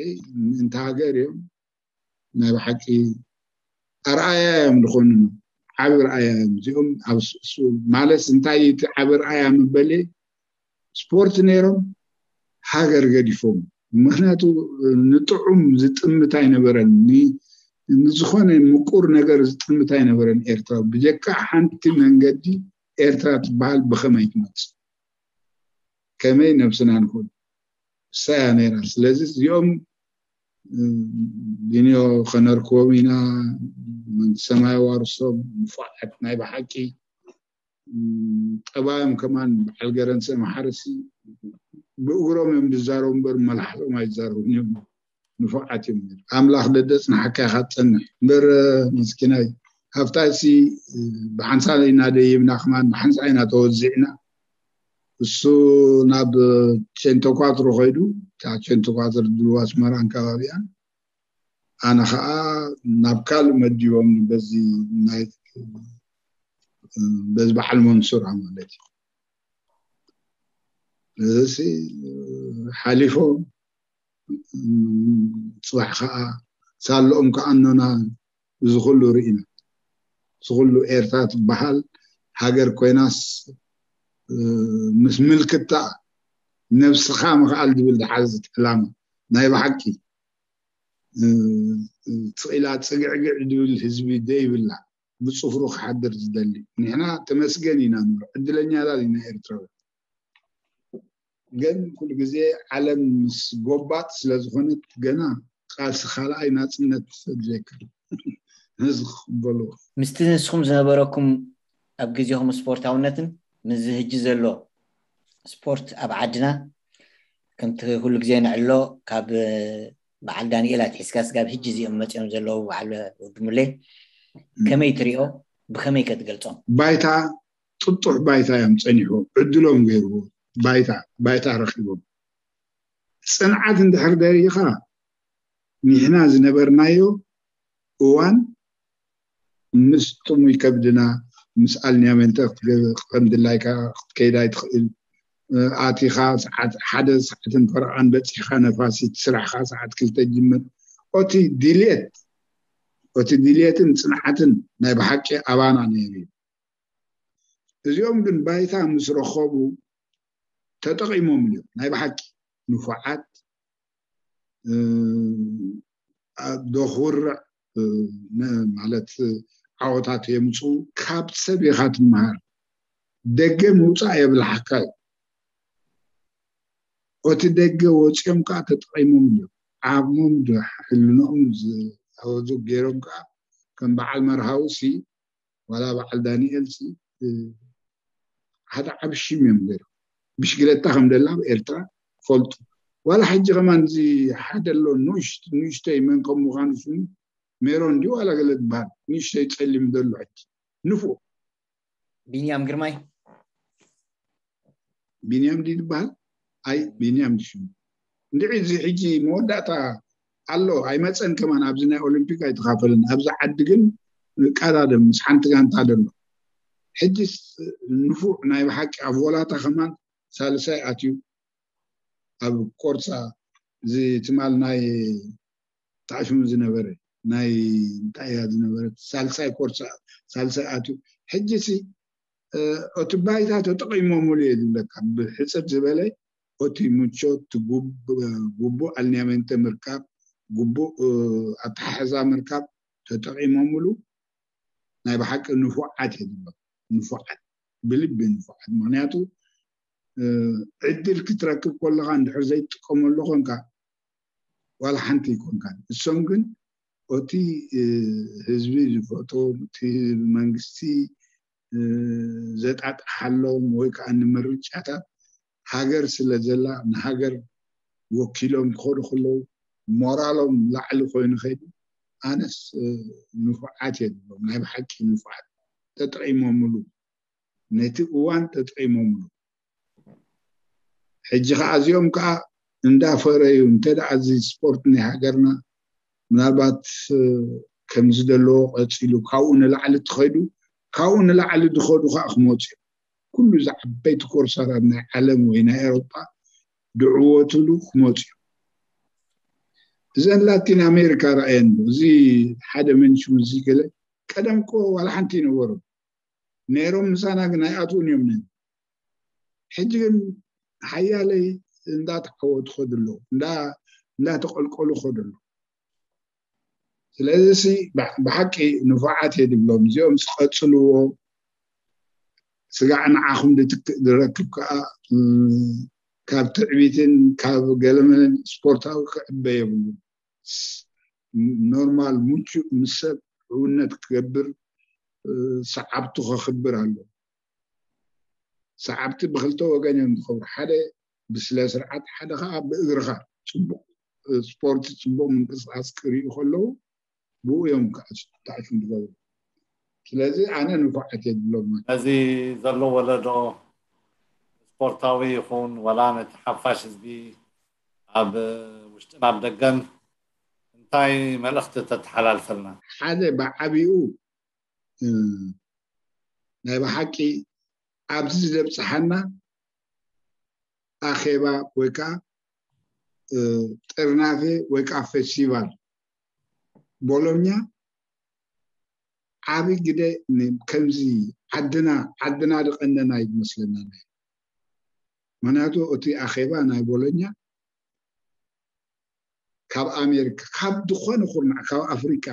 ምእንቲ ሃገር እዮም። ናይ ብሓቂ ኣርኣያ እዮም ዝኾኑና። ዓቢ ርኣያ እዮም እዚኦም። ኣብ ስ-፣ ስ-፣ ማለት እንታይ እቲ ዓቢ ርኣያ ምበል፣ ስፖርት ነይሮም ሃገር ገዲፎም። ምክንያቱ ንጥዑም ዝጥምት ኣይነበረን። ን-፣ ንዝኾነ ምቁር ነገር ዝጥምት ኣይነበረን ኤርትራ። ብጀካ ሓንቲ መንገዲ ኤርትራ ትበሃል ብኸመይ ትመጽእ? ከመይ ነብስና ንኹን? እሳ እያ ነይራ። ስለዚ እዚኦም፣ እ፣ ቢንዮ ከነርክቦም ኢና፣ መንግስቲ ሰማይ ዋርሶም፣ ንፉዓት ናይ ብሓቂ። ም፣ ጠባዮም ከማን በዓል ገረንሰ መሓረሲ ብእግሮም እዮም ዝዛረቡ እምበር መላሕቶም ኣይዛረቡን እዮም። ንፉዓት እዮም ነይሩ። ኣምላኽ ደደጽናሓካ ኢኻ ትጸንሕ እምበር፣ መስኪናይ፣ ሃብታይሲ ብሓንሳ ኢና ደይብና፣ ከማን ብሓንሳ ኢና ተወዚዕና። እሱ ናብ ቼንቶኳትሮ ከይዱ፣ እታ ቼንቶኳትሮ ድልዋ ኣስመራን ከባቢኣን፣ ኣነ ኸዓ ናብ ካልእ መዲቦም በዚ ናይ፣ በዚ በዓል መንሱራ ማለት እዩ። እዚ ሓሊፎም፣ ጽባሕ ኸዓ ሳልኦም ከኣኖና፣ እዚ ኩሉ ርኢና። እዚ ኩሉ ኤርትራ ትበሃል ሃገር ኮይናስ፣ ምስ ምልክታ ነብስኻ ምኽኣል ዝብል ዝሓዘት ዕላማ ናይ ብሓቂ፣ ስቕ ኢላ ጽግዕግዕ ዝብል ህዝቢ ዘይብላ፣ ብጽፍሩ ክሓድር ዝደሊ። ንሕና ተመስገን ኢና ንብሎ፣ ዕድለኛታት ኢና ኤርትራውያን። ግን ኩሉ ግዜ ዓለም ምስ ጎባጥ ስለ ዝኾነት፣ ገና ቃልሲ ካልኣይ ናጽነት ተድልየካ። ነዚ ክቕበልዎ። ምስቲ ንስኹም ዝነበረኩም ኣብ ግዜኹም ስፖርታውነትን ምስዚ ሕጂ ዘሎ ስፖርት ኣብ ዓድና፣ ከምቲ ኩሉ ግዜ ንዕሎ፣ ካብ በዓል ዳንኤል ኣትሒዝካ ስጋብ ሕጂ እዚኦም መጺኦም ዘለዉ፣ በዓል ወዲ ሙሌ፣ ከመይ ትሪኦ? ብኸመይ ከ ትገልጾም? ባይታ፣ ጥጡሕ ባይታ እዮም ጸኒሑ፣ ዕድሎም ገይርዎ፣ ባይታ፣ ባይታ ረኺቦም። ጽንዓት እንድሕር ደሪኻ፣ ንሕና ዝነበርናዮ እዋን ምስ ጥሙይ ከብድና፣ ምስ ኣልንያመንተ ክትገ-፣ ከም ድላይካ ክትከይድ ኣይትኽእል። ኣቲኻ ሰዓት ሓደ ሰዓትን ፈረቓን በጺሕካ ነፋሲት፣ ስራሕኻ ሰዓት ክልተ ጅምር። ኦቲ ድልየት፣ ኦቲ ድልየትን ጽንዓትን ናይ ብሓቂ ኣባና ነይሩ እዩ። እዚኦም ግን ባይታ ምስ ረኸቡ ተጠቒሞምሉ እዮም። ናይ ብሓቂ ንፉዓት፣ እ፣ ዶ ክውርዕ፣ እ፣ ነ-፣ ማለት ዓወታት የምፅኡ። ካብ ሰብ ኢኻ ትመሃር። ደገ ምውፃእ የብልሓካ እዩ። እቲ ደገ ወፂኦም ከዓ ተጠቒሞምሉ እዮም። ዓቕሞም ዶ ሕልንኦም ዝኣወዙ ገይሮም ከዓ ከም በዓል መርሃዊ ሲ ዋላ በዓል ዳንኤል ሲ፣ እ፣ ሓደ ዓቢ ሽም እዮም ነይሮም። ብሽግለታ ከም ደላ ኣብ ኤርትራ ፈልጡ። ዋላ ሕጂ ከማን እዚ ሓደ ኣሎ፣ ንእሽ-፣ ንእሽተይ መን ከም ምዃኑ ሽሙ ሜሮን ድዩ ዋላ ገለ ዝበሃል፣ ንእሽተይ ጸሊም ዘሎ ሕጂ ንፉዕ። ቢንያም ግርማይ። ቢንያም ድዩ ዝበሃል? ኣይ ቢንያም ድሽሙ እንድዒ እዚ ሕጂ መወዳእታ ኣሎ ኣይመፀን ከማን ኣብዚ ናይ ኦሊምፒክ ኣይተኻፈልን ኣብዚ ዓዲ ግን ቀዳድም ምስ ሓንቲ ጋንታ ደሎ ሕጂ ንፉዕ ናይ ብሓቂ ኣብ ቮላታ ከማን ሳልሳይ ኣትዩ ኣብ ኮርሳ እዚ ትማል ናይ ታሽሙ ዝነበረ ናይ እንታይ እያ ዝነበረት ሳልሳይ ኮርሳ ሳልሳይ ኣትዩ ሕጂ ሲ እቲ ባይታ ተጠቂሞምሉ እየ ዝብለካ ብሕፅር ዝበለ እቲ ምቾት ግቡእ ኣልኒያሜንተ ምርካብ ግቡእ ኣተሓሕዛ ምርካብ ተጠቂሞምሉ ናይ ብሓቂ ንፉዓት እየ ዝብሎም ንፉዓት ብልቢ ንፉዓት ምክንያቱ ዕድል ክትረክብ ከለካ እንድሕር ዘይትጥቀመሉ ኮንካ ዋላ ሓንቲ ይኮንካ እሶም ግን እቲ ህዝቢ ዝፈቶ እቲ መንግስቲ ዘጣጥሓሎም ወይ ከዓ ንምርጫታት ሃገር ስለ ዘላ ንሃገር ወኪሎም ክኸዱ ከለዉ ሞራሎም ላዕሊ ኮይኑ ከይዱ ኣነስ ንፉዓት እየ ዝብሎም ናይ ብሓቂ ንፉዓት ተጠቂሞምሉ ነቲ እዋን ተጠቂሞምሉ ሕጂ ከዓ እዚኦም ከዓ እንዳፈረዩ እንተ ደኣ እዚ ስፖርት ናይ ሃገርና ምናልባት ከምዚ ዘለዎ ቀፂሉ ካብኡ ንላዕሊ ትኸዱ ካብኡ ንላዕሊ ዝኸዱ ከዓ ክመፁ እዮም ኩሉ እዚ ዓበይቲ ኮርሳታት ናይ ዓለም ወይ ናይ ኤሮጳ ድዕወትሉ ክመፁ እዮም እዘን ላቲን ኣሜሪካ ረኣየን እዚ ሓደ መንሽም እዚ ገለ ቀደም እኮ ዋላ ሓንቲ ይነበሩ ነይሮም ምሳና ግን ኣይኣትውን እዮም ነይሩ ሕጂ ግን ሓያለይ እንዳተዓወቱ ከዱ ኣለዉ እንዳተቀልቀሉ ከዱ ኣለዉ ስለዚ ሲ ብሓቂ ንፉዓት እየ ድብሎም እዚኦም ዝቀፅልዎ ስጋዕ ንዓኹም ዝረክብ ከዓ ካብ ትዕቢትን ካብ ገለመለን ስፖርታዊ ክዕበ የብሉ ኖርማል ሙቹእ ምስ ሰብ ሕውነት ክገብር ሰዓብቱ ከኽብር ኣሎ ሰዓብቲ ብክልተ ወገን እዮም ዝኸብሩ ሓደ ብስለ ስርዓት ሓደ ከዓ ብእግርኻ ፅቡቅ ስፖርት ፅቡቅ ምንቅስቃስ ክርእዩ ከለዉ ብኡ እዮም ተዓሽም ዝገብሩ ስለዚ ኣነ ንፉዓት እየ ዝብሎም ነዚ ዘሎ ወለዶ ስፖርታዊ ይኹን ወላ ነቲ ሓፋሽ ህዝቢ ኣብ ውሽጥን ኣብ ደገን እንታይ መልእኽቲ ተተሓላልፈልና ሓደ ብዓብኡ ናይ ብሓቂ ኣብዚ ዘብፅሓና ኣኼባ ወይ ከዓ ጥርናፌ ወይ ከዓ ፌስቲቫል ቦሎኛ ዓብይ ግደ ከምዚ ዓድና ዓድና ዝቀነና ይመስለና ምክንያቱ እቲ ኣኼባ ናይ ቦሎኛ ካብ ኣሜሪካ ካብ ዝኾነ ኩርናዕ ካብ ኣፍሪካ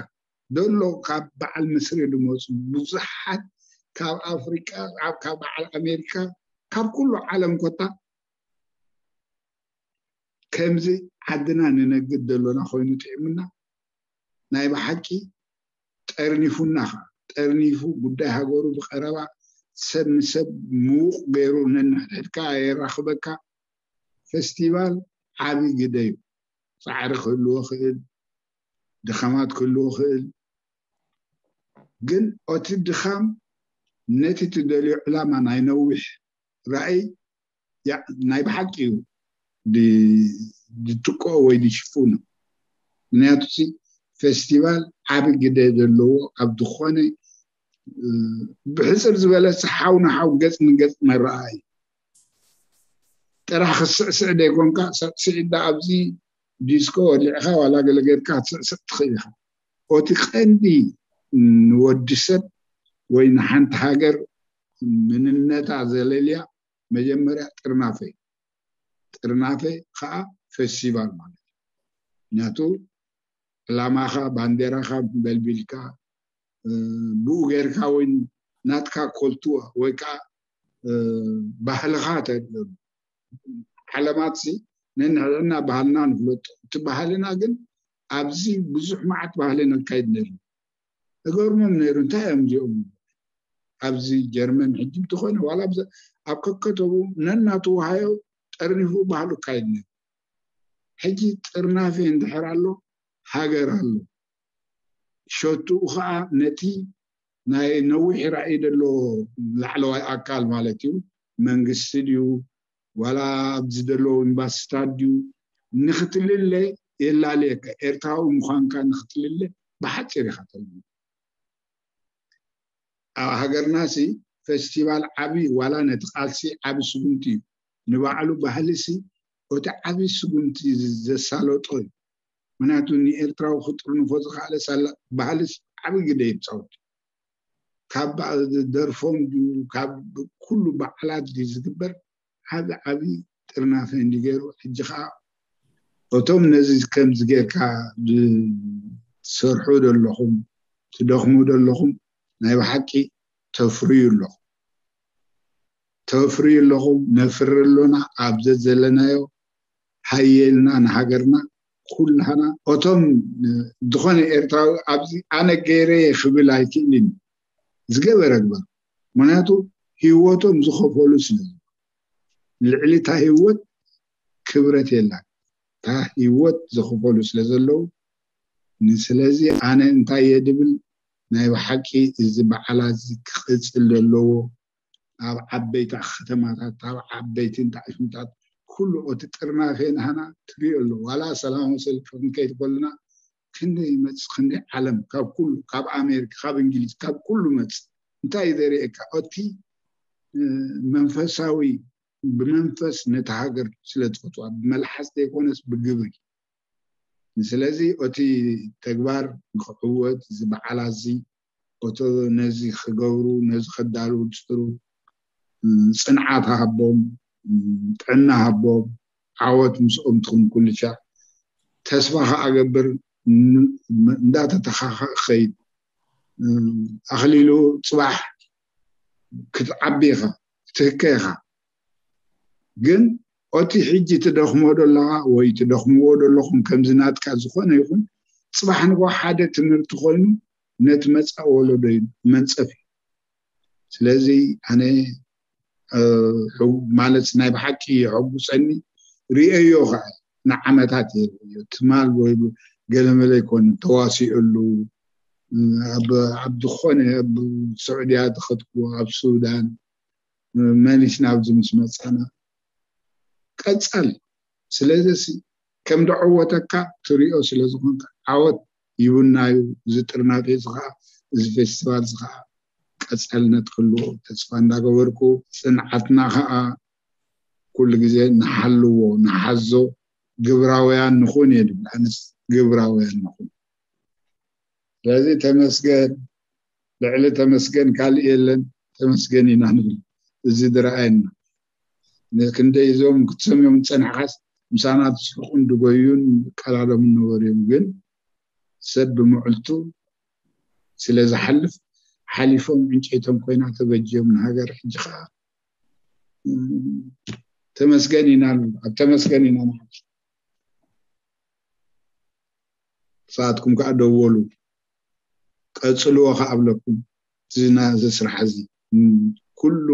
ዘሎ ካብ በዓል ምስሪ ዝመፁ ብዙሓት ካብ ኣፍሪካ ካብ በዓል ኣሜሪካ ካብ ኩሉ ዓለም ኮታ ከምዚ ዓድና ንነግድ ዘሎና ኮይኑ ጥዕምና ናይ ብሓቂ ጠርኒፉና ኸዓ ጠርኒፉ ጉዳይ ሃገሩ ብቀረባ ሰብ ንሰብ ምዉቕ ገይሩ ነንሕድሕድካ የራኽበካ ፌስቲቫል ዓብዪ ግደ እዩ ፃዕሪ ክህልዎ ክእል ድኻማት ክህልዎ ክእል ግን እቲ ድኻም ነቲ ትደልዮ ዕላማ ናይ ነዊሕ ራእይ ናይ ብሓቂ እዩ ዝትክኦ ወይ ዝሽፍኖ ምክንያቱ ፌስቲቫል ዓብ ግደ ዘለዎ ኣብ ዝኾነ ብሕፅር ዝበለ ሓው ንሓው ገፅ ንገፅ መረኣ እዩ ጥራሕ ክስዕስዕ ዘይኮንካ ስዕስዒ ዳ ኣብዚ ዲስኮ ወሊዕካ ዋላ ገለ ጌርካ ክትስዕስዕ ትኽእል ኢኻ ኦቲ ቀንዲ ንወዲ ሰብ ወይ ንሓንቲ ሃገር ምንነታ ዘለልያ መጀመርያ ጥርናፈ ጥርናፈ ከዓ ፌስቲቫል ማለት እዩ ምክንያቱ ዕላማኻ ባንዴራኻ በልቢልካ ብኡ ጌርካ ወይ ናትካ ኮልትዋ ወይ ከዓ ባህልኻ ተርእየሉ ዓለማት ሲ ነንሕድሕድና ባህልና ንፍለጦ እቲ ባህልና ግን ኣብዚ ብዙሕ መዓት ባህሊ ነካይድ ነርና እገርሞም ነይሩ እንታይ እዮም እዚኦም ኣብዚ ጀርመን ሕጂ እንተኾነ ዋላ ኣብ ከከተቡ ነናተዋሃዮ ጠርኒፉ ባህሉ ካይድ ነይሩ ሕጂ ጥርናፌ እንድሕር ኣሎ ሃገር ኣሎ ሸትኡ ከዓ ነቲ ናይ ነዊሕ ራእይ ዘሎ ላዕለዋይ ኣካል ማለት እዩ መንግስቲ ድዩ ዋላ ኣብዚ ዘለዎ ኤምባሲታት ድዩ ንክትልለ የላልየካ። ኤርትራዊ ምዃንካ ንክትልለ ብሓፂር ኢኻ ተልለ። ኣብ ሃገርና ሲ ፌስቲቫል ዓቢ ዋላ ነቲ ቃልሲ ዓቢ ስጉምቲ እዩ። ንባዕሉ ባህሊ ሲ እቲ ዓቢ ስጉምቲ ዘሳለጦ እዩ። ምክንያቱ ንኤርትራዊ ክጥርንፎ ዝኽኣለ ሳላ ባህሊ ሲ ዓቢ ግደ ይፃወት። ካብ ደርፎም ድዩ ካብ ኩሉ በዓላት ድዩ ዝግበር ዓቢ ዓቢ ጥርናፈ እንዲ ገይሩ። ሕጂ ከዓ እቶም ነዚ ከምዚ ጌርካ ትሰርሑ ዘለኹም ትደኽሙ ዘለኹም ናይ ብሓቂ ተፍርዩ ኣለኹም። ተፍርዩ ኣለኹም። ነፍሪ ኣሎና ኣብ ዘዘለናዮ ሃየልና ንሃገርና ኩላህና። እቶም ዝኾነ ኤርትራዊ ኣብዚ ኣነ ገይረ ክብል ኣይክእልን። ዝገበረ ግበር። ምክንያቱ ህይወቶም ዝኸፈሉ ስለ ልዕሊ እታ ህይወት ክብረት የላን። እታ ህይወት ዝኸፈሉ ስለ ዘለዉ ንስለዚ ኣነ እንታይ እየ ድብል ናይ ብሓቂ እዚ በዓላት እዚ ክቕፅል ዘለዎ ኣብ ዓበይቲ ከተማታት ኣብ ዓበይቲ እንተዓሽምታት ኩሉ እቲ ጥርናፌ ናህና ትሪኦ ኣሎ። ዋላ ሰላማዊ ሰልፊ ክንከይድ ከለና ክንደይ ይመጽእ ክንደይ ዓለም ካብ ኩሉ ካብ ኣሜሪካ ካብ እንግሊዝ ካብ ኩሉ መጽእ እንታይ ዘርእየካ እቲ መንፈሳዊ ብመንፈስ ነቲ ሃገር ስለ ዝፈትዋ ብመልሓስ ዘይኮነስ ብግብሪ። ስለዚ እቲ ተግባር ንክዕወት እዚ በዓላት እዚ እቶ ነዚ ክገብሩ ነዚ ከዳልው ዝፅሩ ፅንዓት ሃቦም ጥዕና ሃቦም ዓወት ምስኦም ትኹን ኩልሻ ተስፋ ከዓ ገብር እንዳተተኻኸ ክኸይድ ኣኽሊሉ ፅባሕ ክትዓቢ ኢኻ ክትህከ ኢኻ ግን ኦቲ ሕጂ ትደኽሞ ደለኻ ወይ ትደኽምዎ ደለኹም ከምዚ ናትካ ዝኾነ ይኹን ፅባሕ ንጎ ሓደ ትምህርቲ ኮይኑ ነቲ መፃእ ወለዶ እዩ መንፀፍ እዩ ስለዚ ኣነ ማለት ናይ ብሓቂ የሐጉፀኒ ርእዮ ከዓ ንዓመታት ትማል ወይ ገለመለ ይኮነ ተዋሲኦሉ ኣብ ዝኾነ ኣብ ስዑድያ ዝኸድኩዎ ኣብ ሱዳን መሊስና ኣብዚ ምስ መፃና ቀፃል ስለዚ ከም ደዐወተካ ትሪኦ ስለዝኮንካ ዓወት ይብናዩ እዚ ጥርናቤ እዚ ከዓ እዚ ፌስቲቫል እዚ ከዓ ቀፃልነት ክህልዎ ተስፋ እንዳገበርኩ ፅንዓትና ከዓ ኩሉ ግዜ ንሓልዎ ንሓዞ ግብራውያን ንኹን እየ ድብል ኣነስ ግብራውያን ንኹን ስለዚ ተመስገን ልዕሊ ተመስገን ካልእ የለን ተመስገን ኢና ንብል እዚ ዝረኣየና ክንደይ እዞም ክትሰምዮም ዝፀናሕካስ ምሳና ትስሕቁን ድጎዩን ይቀላለሙ ነበሩ እዮም ግን ሰብ ብምዕልቱ ስለ ዝሓልፍ ሓሊፎም ዕንጨይቶም ኮይና ተበጅዮም ንሃገር ሕጂ ከዓ ተመስገን ኢና ኣብ ተመስገን ኢና ንሓልፍ ንስኻትኩም ከዓ ደወሉ ቀፅልዎ ከዓ ኣብለኩም እዚ ናዚ ስራሕ እዚ ኩሉ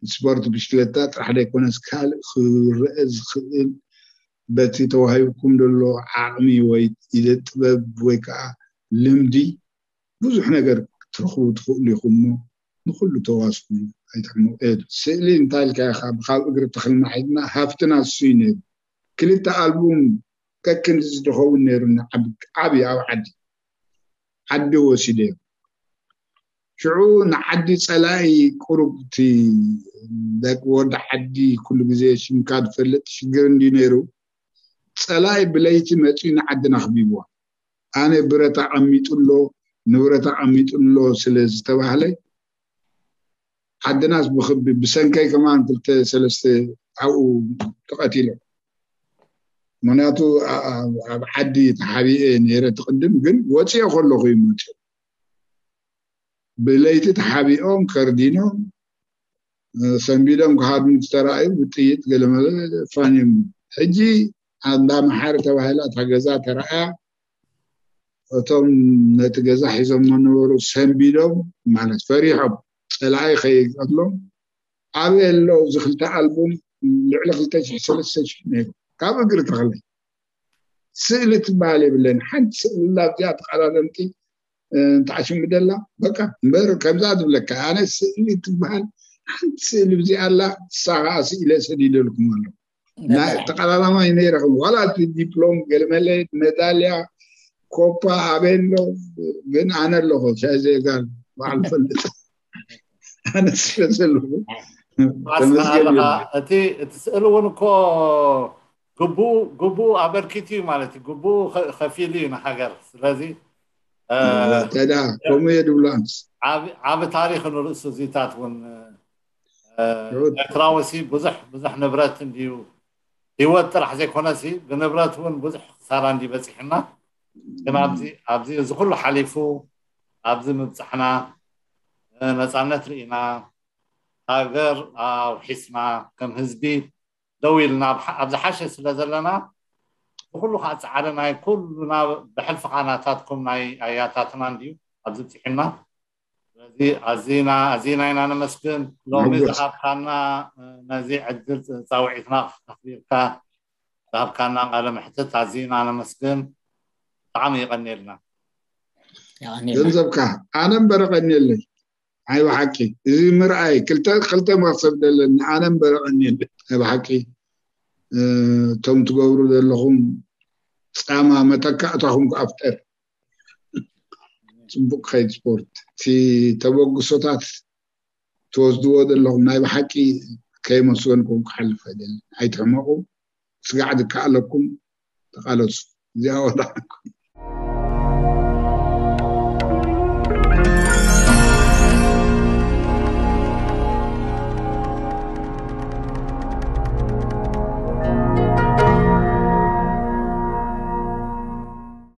ስፖርት ብሽክለታ ጥራሕ ዘይኮነስ ካልእ ክረአ ዝኽእል በቲ ተዋሂብኩም ዘሎ ዓቕሚ ወይ ኢደ ጥበብ ወይ ከዓ ልምዲ ብዙሕ ነገር ክትረኽቡ ትኽእሉ ኢኹም እሞ ንኹሉ ተዋስኡ ኣይትሕመቑ። ስእሊ እንታይ ኢልካ ኢኻ ካብ እግሪ ተኽልና ሒዝና ሃፍትና እሱ እዩ ነይሩ። ክልተ ኣልቡም ከክንዲ ዝድኸውን ነይሩኒ ዓቢ ኣብ ዓዲ ዓዲ ወሲደዮ። ሽዑ ንዓዲ ጸላኢ ቁሩብ እቲ ደቂ ወዲ ዓዲ ኩሉ ግዜ ሽምካ ዝፈልጥ ሽግር እንዲ ነይሩ ጸላኢ ብለይቲ መጺኡ ንዓድና ኣኽቢብዋ። ኣነ ብረት ኣቐሚጡ ኣሎ ንብረት ኣቐሚጡ ኣሎ ስለ ዝተባህለ ዓድናስ ብክቢ ብሰንከይ ከማን ክልተ ሰለስተ ኣብኡ ተቐቲሎም። ምክንያቱ ኣብ ዓዲ ተሓቢኤ ነይረ ትቕድም ግን ወፂኦ ከለኹ እዩ መፂኦ። ብለይቲ ተሓቢኦም ከርዲኖም ሰንቢዶም ክሃድሙ ዝተረኣዩ ብጥይት ገለመለ ፋንዮም። ሕጂ ኣንዳ መሓሪ ተባሂላ እታ ገዛ ተረኣያ እቶም ነቲ ገዛ ሒዞም ነበሩ ሰንቢዶም ማለት ፈሪሖም ፀላኢ ከይቀትሎም ኣበይ ኣሎ እዚ ክልተ ኣልቡም ልዕሊ ክልተ ሽሕ ሰለስተ ሽሕ ነይሩ ካብ እግሪ ተኽለ ስእሊ ትበሃል የብለን ሓንቲ ስእሊ ላብዚኣ ተቐዳደምቲ ተዓሽምደላ በቃ እምበር ከምዛ ዝብለካ ኣነ ስእሊ ትበሃል ሓንቲ ስእሊ ብዚኣ ኣላ። እሳ ከዓ ስኢለ ሰዲደልኩም ኣሎ። ናይ ተቐዳዳማይ ነይረኹም ዋላ እቲ ዲፕሎም ገለመለ፣ መዳልያ፣ ኮፓ ኣበሎ። ግን ኣነ ኣለኹ ሻይ ዘይጋር በዓል ፈልጥ ኣነ ስለ ዘለኹ ተመስገን። እቲ እቲ ስእሊ እውን እኮ ግቡኡ ግቡኡ ኣበርኪት እዩ ማለት እዩ። ግቡኡ ከፊሉ እዩ ንሃገር። ስለዚ ተዳ ከምኡ እየ ድብሎ ኣንስ ዓቢ ታሪኽ ንርእሱ እዚታት እውን ኤርትራዊ ሲ ብዙሕ ብዙሕ ንብረት እንድዩ፣ ህይወት ጥራሕ ዘይኮነሲ ብንብረት እውን ብዙሕ ክሳራ እንዲ በፂሕና። ግን ኣብዚ ኣብዚ እዚ ኩሉ ሓሊፉ ኣብዚ ምብፃሕና፣ ነፃነት ርኢና፣ ሃገር ኣውሒስና፣ ከም ህዝቢ ደው ኢልና ኣብ ዝሓሸ ስለ ዘለና፣ ብኩሉ ከዓ ፃዕሪ ናይ ኩሉና፣ ብሕልፊ ከዓ ናታትኩም ናይ ኣያታትና እንድዩ ኣብዚ ብፂሕና። ስለዚ ኣዚና ኣዚና ኢና ነመስግን። ሎሚ ዝሃብካና ነዚ ዕድል ፃውዒትና ኣኽቢርካ ዝሃብካና ቃለ መሕትት ኣዚና ነመስግን። ብጣዕሚ ይቐንየልና። ገንዘብካ ኣነ እምበር ቀንየለይ። ኣይ ብሓቂ እዚ ምርኣይ ክልተ ክልተ መክሰብ ደለኒ። ኣነ እምበር ቀንየለይ። ኣይ ብሓቂ እቶም ትገብሩ ዘለኹም ፃማ መተካእታኹም ክኣፍጠር። ፅቡቅ ከይድ ስፖርት። እቲ ተበግሶታት ትወስድዎ ዘለኹም ናይ ብሓቂ ከየመስገንኩም ክሓልፍ ኣይደልን። ኣይትሕመቁ። ስጋዕ ዝከኣለኩም ተቃለሱ። እዚኣ ወላ